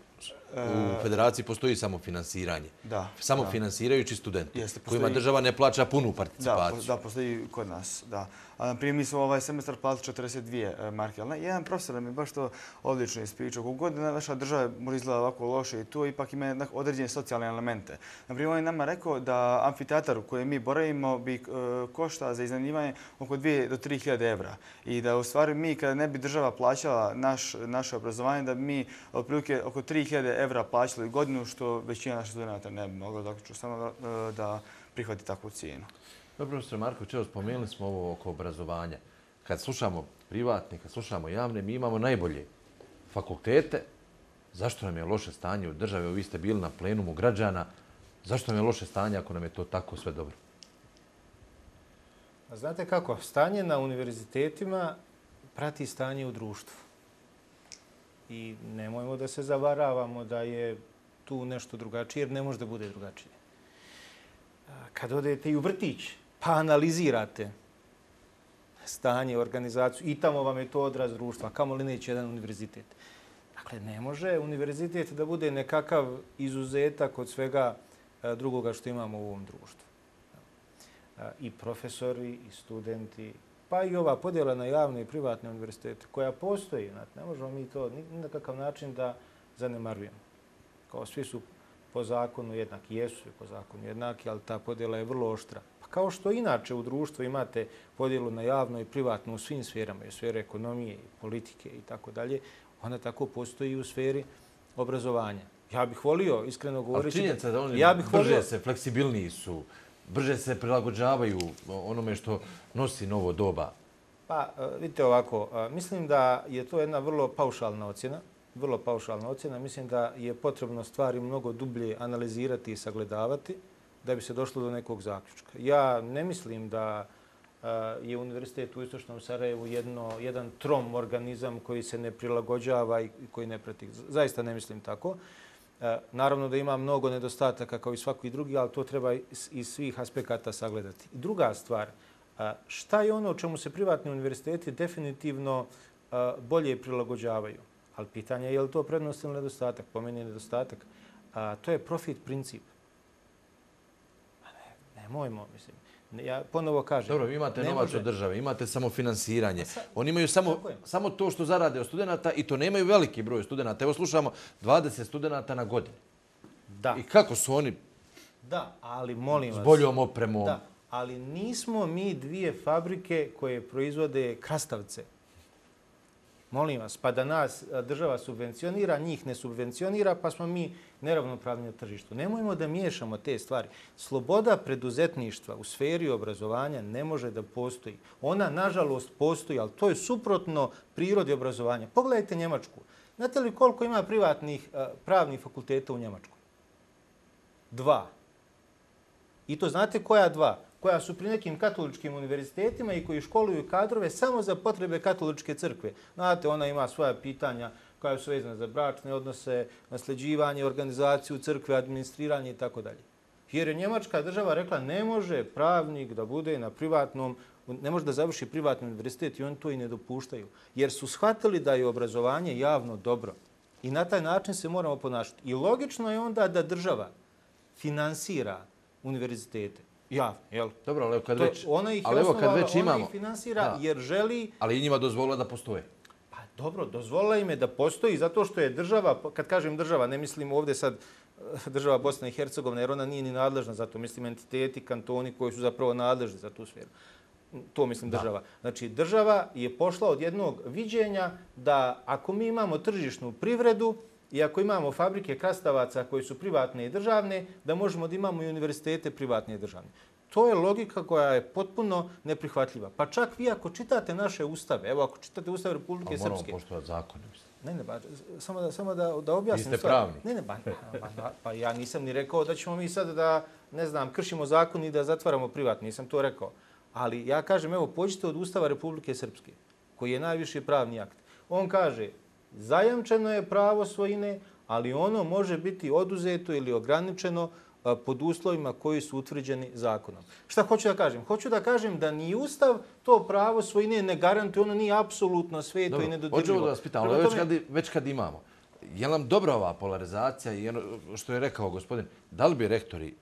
u federaciji postoji samo finansiranje. Da. Samo da. finansirajući studenti, Jeste, kojima država ne plaća punu participaciju. Da, da, postoji kod nas, da. A, naprimjer, mi smo ovaj semestar platili četrdeset dvije marke, ali jedan profesor mi je baš to odlično ispričao. Kako god naša država može izgledati ovako loše i to ipak ima određene socijalne elemente. Naprimjer, on je nama rekao da amfiteatar u kojem mi boravimo bi e, košta za iznajmljivanje oko dvije do tri hiljade evra. I da u stvari mi, kada ne bi država plaćala naš, naše obrazovanje, da bi mi otprilike oko tri hiljade evra plaćali godinu, što većina naših studenta ne bi mogla zaključiti samo da, da prihvati takvu cijenu. Dobro, profesor Marković, evo spomenuli smo ovo oko obrazovanja. Kad slušamo privatne, kad slušamo javne, mi imamo najbolje fakultete. Zašto nam je loše stanje u državi? Vi ste bili na plenumu građana. Zašto nam je loše stanje ako nam je to tako sve dobro? Znate kako? Stanje na univerzitetima prati stanje u društvu. I nemojmo da se zavaravamo da je tu nešto drugačije, jer ne može da bude drugačije. Kad odete i u vrtić, pa analizirate stanje, organizaciju i tamo vam je to odraz društva, kamo li neće jedan univerzitet. Dakle, ne može univerzitet da bude nekakav izuzetak od svega drugoga što imamo u ovom društvu. I profesori, i studenti, pa i ova podjela na javne i privatne univerzitete koja postoji. Ne možemo mi to ni na kakav način da zanemarujemo. Kao svi su po zakonu jednaki, jesu po zakonu jednaki, ali ta podjela je vrlo oštra. Pa kao što inače u društvu imate podjelu na javno i privatno u svim sferama, i u sferi ekonomije, i politike i tako dalje, ona tako postoji i u sferi obrazovanja. Ja bih volio, iskreno govoreći... Ali činjenica da oni ja bih brže volio... se, fleksibilniji su, brže se prilagođavaju onome što nosi novo doba. Pa, vidite ovako, mislim da je to jedna vrlo paušalna ocjena, vrlo paušalna ocjena. Mislim da je potrebno stvari mnogo dublje analizirati i sagledavati da bi se došlo do nekog zaključka. Ja ne mislim da je univerzitet u Istočnom Sarajevu jedno, jedan trom organizam koji se ne prilagođava i koji ne prati. Zaista ne mislim tako. Naravno da ima mnogo nedostataka kao i svaki drugi, ali to treba iz svih aspekata sagledati. I druga stvar, šta je ono o čemu se privatni univerziteti definitivno bolje prilagođavaju? Ali pitanje je je li to prednost ili nedostatak? Po meni je nedostatak. A, to je profit princip. Ne, nemojmo, mislim. Ja ponovo kažem. Dobro, vi imate novac može... od države, imate samo finansiranje. Oni imaju samo, samo to što zarade od studenta i to nemaju veliki broj studenta. Evo slušamo dvadeset studenta na godinu. Da. I kako su oni da, ali molim vas, s boljom opremom? Da, ali nismo mi dvije fabrike koje proizvode krastavce. Molim vas, pa da nas država subvencionira, njih ne subvencionira, pa smo mi neravnopravni na tržištu. Nemojmo da miješamo te stvari. Sloboda preduzetništva u sferi obrazovanja ne može da postoji. Ona, nažalost, postoji, ali to je suprotno prirodi obrazovanja. Pogledajte Njemačku. Znate li koliko ima privatnih pravnih fakulteta u Njemačkoj? Dva. I to znate koja dva? koja su pri nekim katoličkim univerzitetima i koji školuju kadrove samo za potrebe katoličke crkve. Znate, ona ima svoja pitanja koja su vezana za bračne odnose, nasljeđivanje, organizaciju crkve, administriranje i tako dalje. Jer je Njemačka država rekla ne može pravnik da bude na privatnom, ne može da završi privatni univerzitet i oni to i ne dopuštaju. Jer su shvatili da je obrazovanje javno dobro. I na taj način se moramo ponašati. I logično je onda da država finansira univerzitete. Javno, jel? Dobro, ali kad već, ona ih ali evo kad već ona imamo, ih finansira jer želi... Ali i njima dozvolila da postoje. Pa dobro, dozvolila im je da postoji zato što je država, kad kažem država, ne mislim ovdje sad država Bosna i Hercegovina, jer ona nije ni nadležna za to. Mislim entiteti, kantoni koji su zapravo nadležni za tu sferu. To mislim država. Znači, država je pošla od jednog viđenja da ako mi imamo tržišnu privredu i ako imamo fabrike krastavaca koje su privatne i državne, da možemo da imamo i univerzitete privatne i državne. To je logika koja je potpuno neprihvatljiva. Pa čak vi ako čitate naše ustave, evo ako čitate Ustav Republike Srpske... Moramo poštovati zakone. Ne, ne, ba, samo da, samo da, da objasnim. Vi ste pravni. Ne, ne, ba, ba, ba, pa ja nisam ni rekao da ćemo mi sad da, ne znam, kršimo zakon i da zatvaramo privatno. Nisam to rekao. Ali ja kažem, evo, pođite od Ustava Republike Srpske, koji je najviši pravni akt. On kaže, zajamčeno je pravo svojine, ali ono može biti oduzeto ili ograničeno pod uslovima koji su utvrđeni zakonom. Šta hoću da kažem? Hoću da kažem da ni Ustav to pravo svojine ne garantuje, ono nije apsolutno sveto Dobro, i nedodirljivo. Hoću da vas pitam, ali već, kad, već kad imamo, je nam dobra ova polarizacija i što je rekao gospodin, da li bi rektori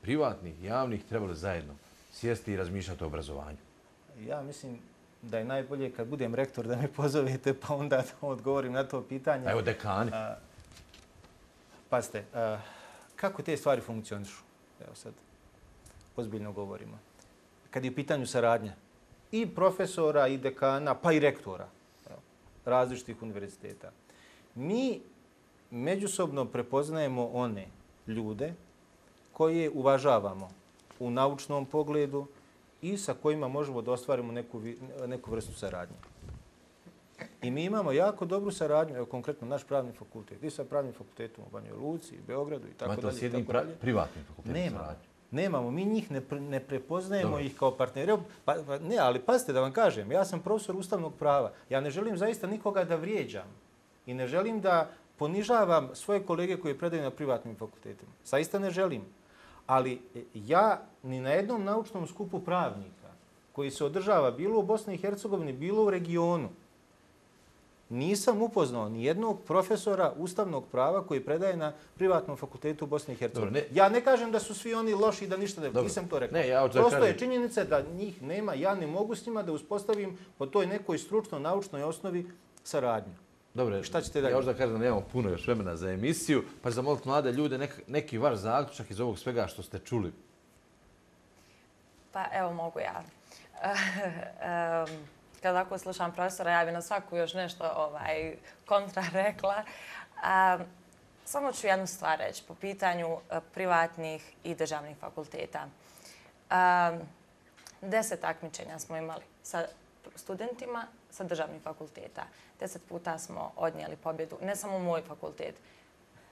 privatnih i javnih trebali zajedno sjesti i razmišljati o obrazovanju? Ja mislim da je najbolje kad budem rektor da me pozovete pa onda da odgovorim na to pitanje. A evo dekani. A, pazite, a, kako te stvari funkcionišu? Evo sad, ozbiljno govorimo. Kad je u pitanju saradnja i profesora, i dekana, pa i rektora evo, različitih univerziteta. Mi međusobno prepoznajemo one ljude koje uvažavamo u naučnom pogledu i sa kojima možemo da ostvarimo neku, neku vrstu saradnje. I mi imamo jako dobru saradnju, evo konkretno naš pravni fakultet, i sa pravnim fakultetom u Banjoj Luci, Beogradu i tako dalje. Imate s jednim pra privatnim fakultetom Nemamo. saradnju? Nemamo, mi njih ne, pre, ne prepoznajemo Dobro. ih kao partnere. Pa, pa, ne, ali pazite da vam kažem, ja sam profesor ustavnog prava. Ja ne želim zaista nikoga da vrijeđam i ne želim da ponižavam svoje kolege koje predaju na privatnim fakultetima. Zaista ne želim. Ali ja ni na jednom naučnom skupu pravnika koji se održava bilo u Bosni i Hercegovini, bilo u regionu, nisam upoznao ni jednog profesora ustavnog prava koji predaje na privatnom fakultetu u Bosni i Hercegovini. Dobro, ne. Ja ne kažem da su svi oni loši i da ništa ne... Dobro. Nisam to rekao. Ne, ja Prosto kažem... je činjenica da njih nema, ja ne mogu s njima da uspostavim po toj nekoj stručno-naučnoj osnovi saradnju. Dobre, šta ćete dalje? Ja možda kažem da nemamo puno još vremena za emisiju, pa ću zamoliti mlade ljude nek, neki vaš zaključak iz ovog svega što ste čuli. Pa evo mogu ja. um, Kad ako slušam profesora, ja bi na svaku još nešto ovaj, kontra rekla. Um, samo ću jednu stvar reći po pitanju uh, privatnih i državnih fakulteta. Um, deset takmičenja smo imali sa studentima sa državnih fakulteta. Deset puta smo odnijeli pobjedu, ne samo moj fakultet.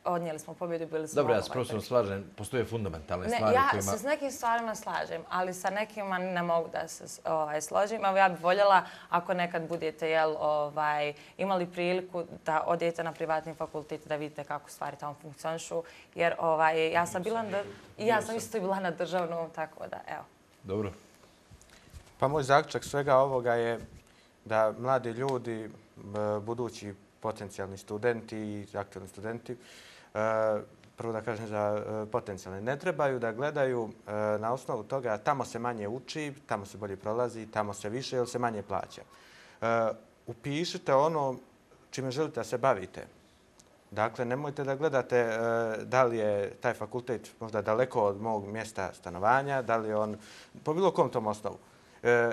Odnijeli smo pobjedu, bili smo... Dobro, ja se profesorom slažem, postoje fundamentalne ne, stvari ja kojima... Ja se s nekim stvarima slažem, ali sa nekima ne mogu da se ovaj, složim. Evo, ja bih voljela, ako nekad budete jel, ovaj, imali priliku da odete na privatni fakultet, da vidite kako stvari tamo funkcionišu. Jer ovaj, ja sam bila na, i ja sam isto bila na državnom, tako da, evo. Dobro. Pa moj zaključak svega ovoga je da mladi ljudi, budući potencijalni studenti i aktualni studenti, prvo da kažem za potencijalne, ne trebaju da gledaju na osnovu toga tamo se manje uči, tamo se bolje prolazi, tamo se više ili se manje plaća. Upišite ono čime želite da se bavite. Dakle, nemojte da gledate da li je taj fakultet možda daleko od mog mjesta stanovanja, da li je on po bilo kom tom osnovu.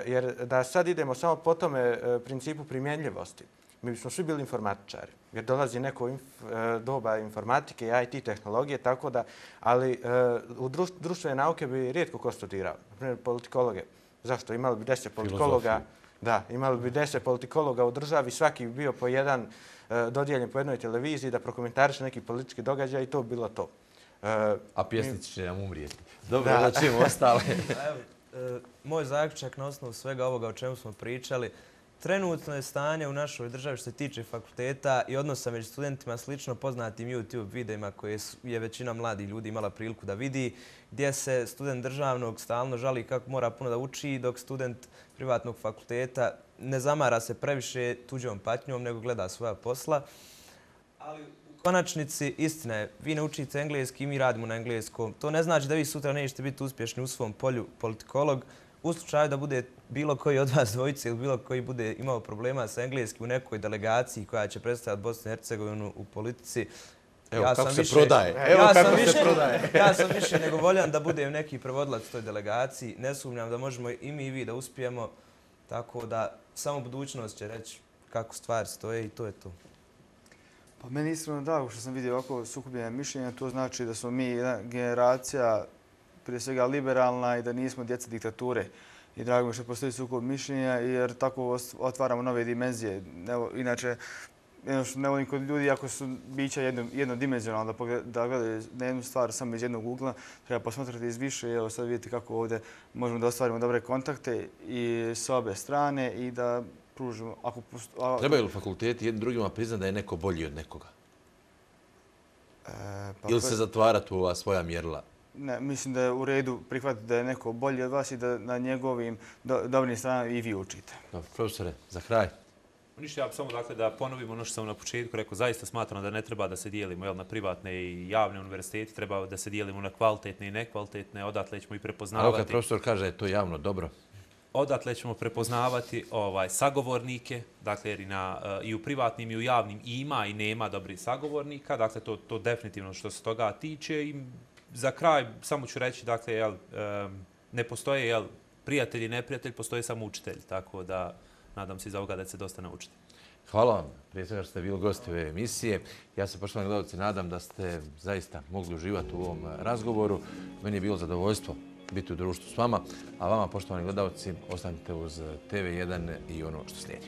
Jer da sad idemo samo po tome principu primjenljivosti, mi bismo svi bili informatičari, jer dolazi neko inf, doba informatike i I T tehnologije, tako da, ali u društvene nauke bi rijetko ko studirao. Naprimjer, politikologe. Zašto? Imali bi deset politikologa, da, imali bi deset politikologa u državi, svaki bi bio po jedan dodijeljen po jednoj televiziji da prokomentariše neki politički događaj i to bi bilo to. A pjesnici će nam umrijeti. Dobro, da ćemo ostale. Moj zaključak na osnovu svega ovoga o čemu smo pričali, trenutno je stanje u našoj državi što se tiče fakulteta i odnosa među studentima slično poznatim YouTube videima koje je većina mladih ljudi imala priliku da vidi, gdje se student državnog stalno žali kako mora puno da uči, dok student privatnog fakulteta ne zamara se previše tuđom patnjom, nego gleda svoja posla. Ali u konačnici, istina je, vi ne učite engleski i mi radimo na engleskom. To ne znači da vi sutra nećete biti uspješni u svom polju politikolog. U slučaju da bude bilo koji od vas dvojice ili bilo koji bude imao problema sa engleskim u nekoj delegaciji koja će predstavljati Bosnu i Hercegovinu u politici, Evo ja kako sam se više, prodaje. Evo ja kako sam se više, prodaje. Ja sam više nego voljan da budem neki prevodilac toj delegaciji. Ne sumnjam da možemo i mi i vi da uspijemo. Tako da samo budućnost će reći kako stvari stoje i to je to. Pa meni iskreno drago što sam vidio ovako sukobljene mišljenja. To znači da smo mi jedna generacija prije svega liberalna i da nismo djeca diktature. I drago mi što postoji sukob mišljenja jer tako otvaramo nove dimenzije. Inače, jedno što ne volim kod ljudi, ako su bića jednodimenzionalna, da gledaju na jednu stvar samo iz jednog ugla, treba posmatrati iz više i evo sad vidite kako ovdje možemo da ostvarimo dobre kontakte i s obe strane i da pružimo... Trebaju li fakulteti jednim drugima priznati da je neko bolji od nekoga? Ili se zatvarati u ova svoja mjerila? Ne, mislim da je u redu prihvatiti da je neko bolji od vas i da na njegovim dobrim stranama i vi učite. Dobro, profesore, za kraj. Ništa, ja bi samo dakle da ponovim ono što sam na početku rekao, zaista smatram da ne treba da se dijelimo jel, na privatne i javne univerzitete, treba da se dijelimo na kvalitetne i nekvalitetne, odatle ćemo i prepoznavati. Ali kad profesor kaže da je to javno dobro? Odatle ćemo prepoznavati ovaj, sagovornike, dakle jer i, na, i u privatnim i u javnim ima i nema dobrih sagovornika, dakle to, to definitivno što se toga tiče. I za kraj samo ću reći, dakle, jel, ne postoje jel, prijatelj i neprijatelj, postoje samo učitelj, tako da nadam se iz ovoga da će se dosta naučiti. Hvala vam, prije svega što ste bili gosti ove emisije. Ja se, poštovani gledalci, nadam da ste zaista mogli uživati u ovom razgovoru. Meni je bilo zadovoljstvo biti u društvu s vama, a vama, poštovani gledalci, ostanite uz T V jedan i ono što slijedi.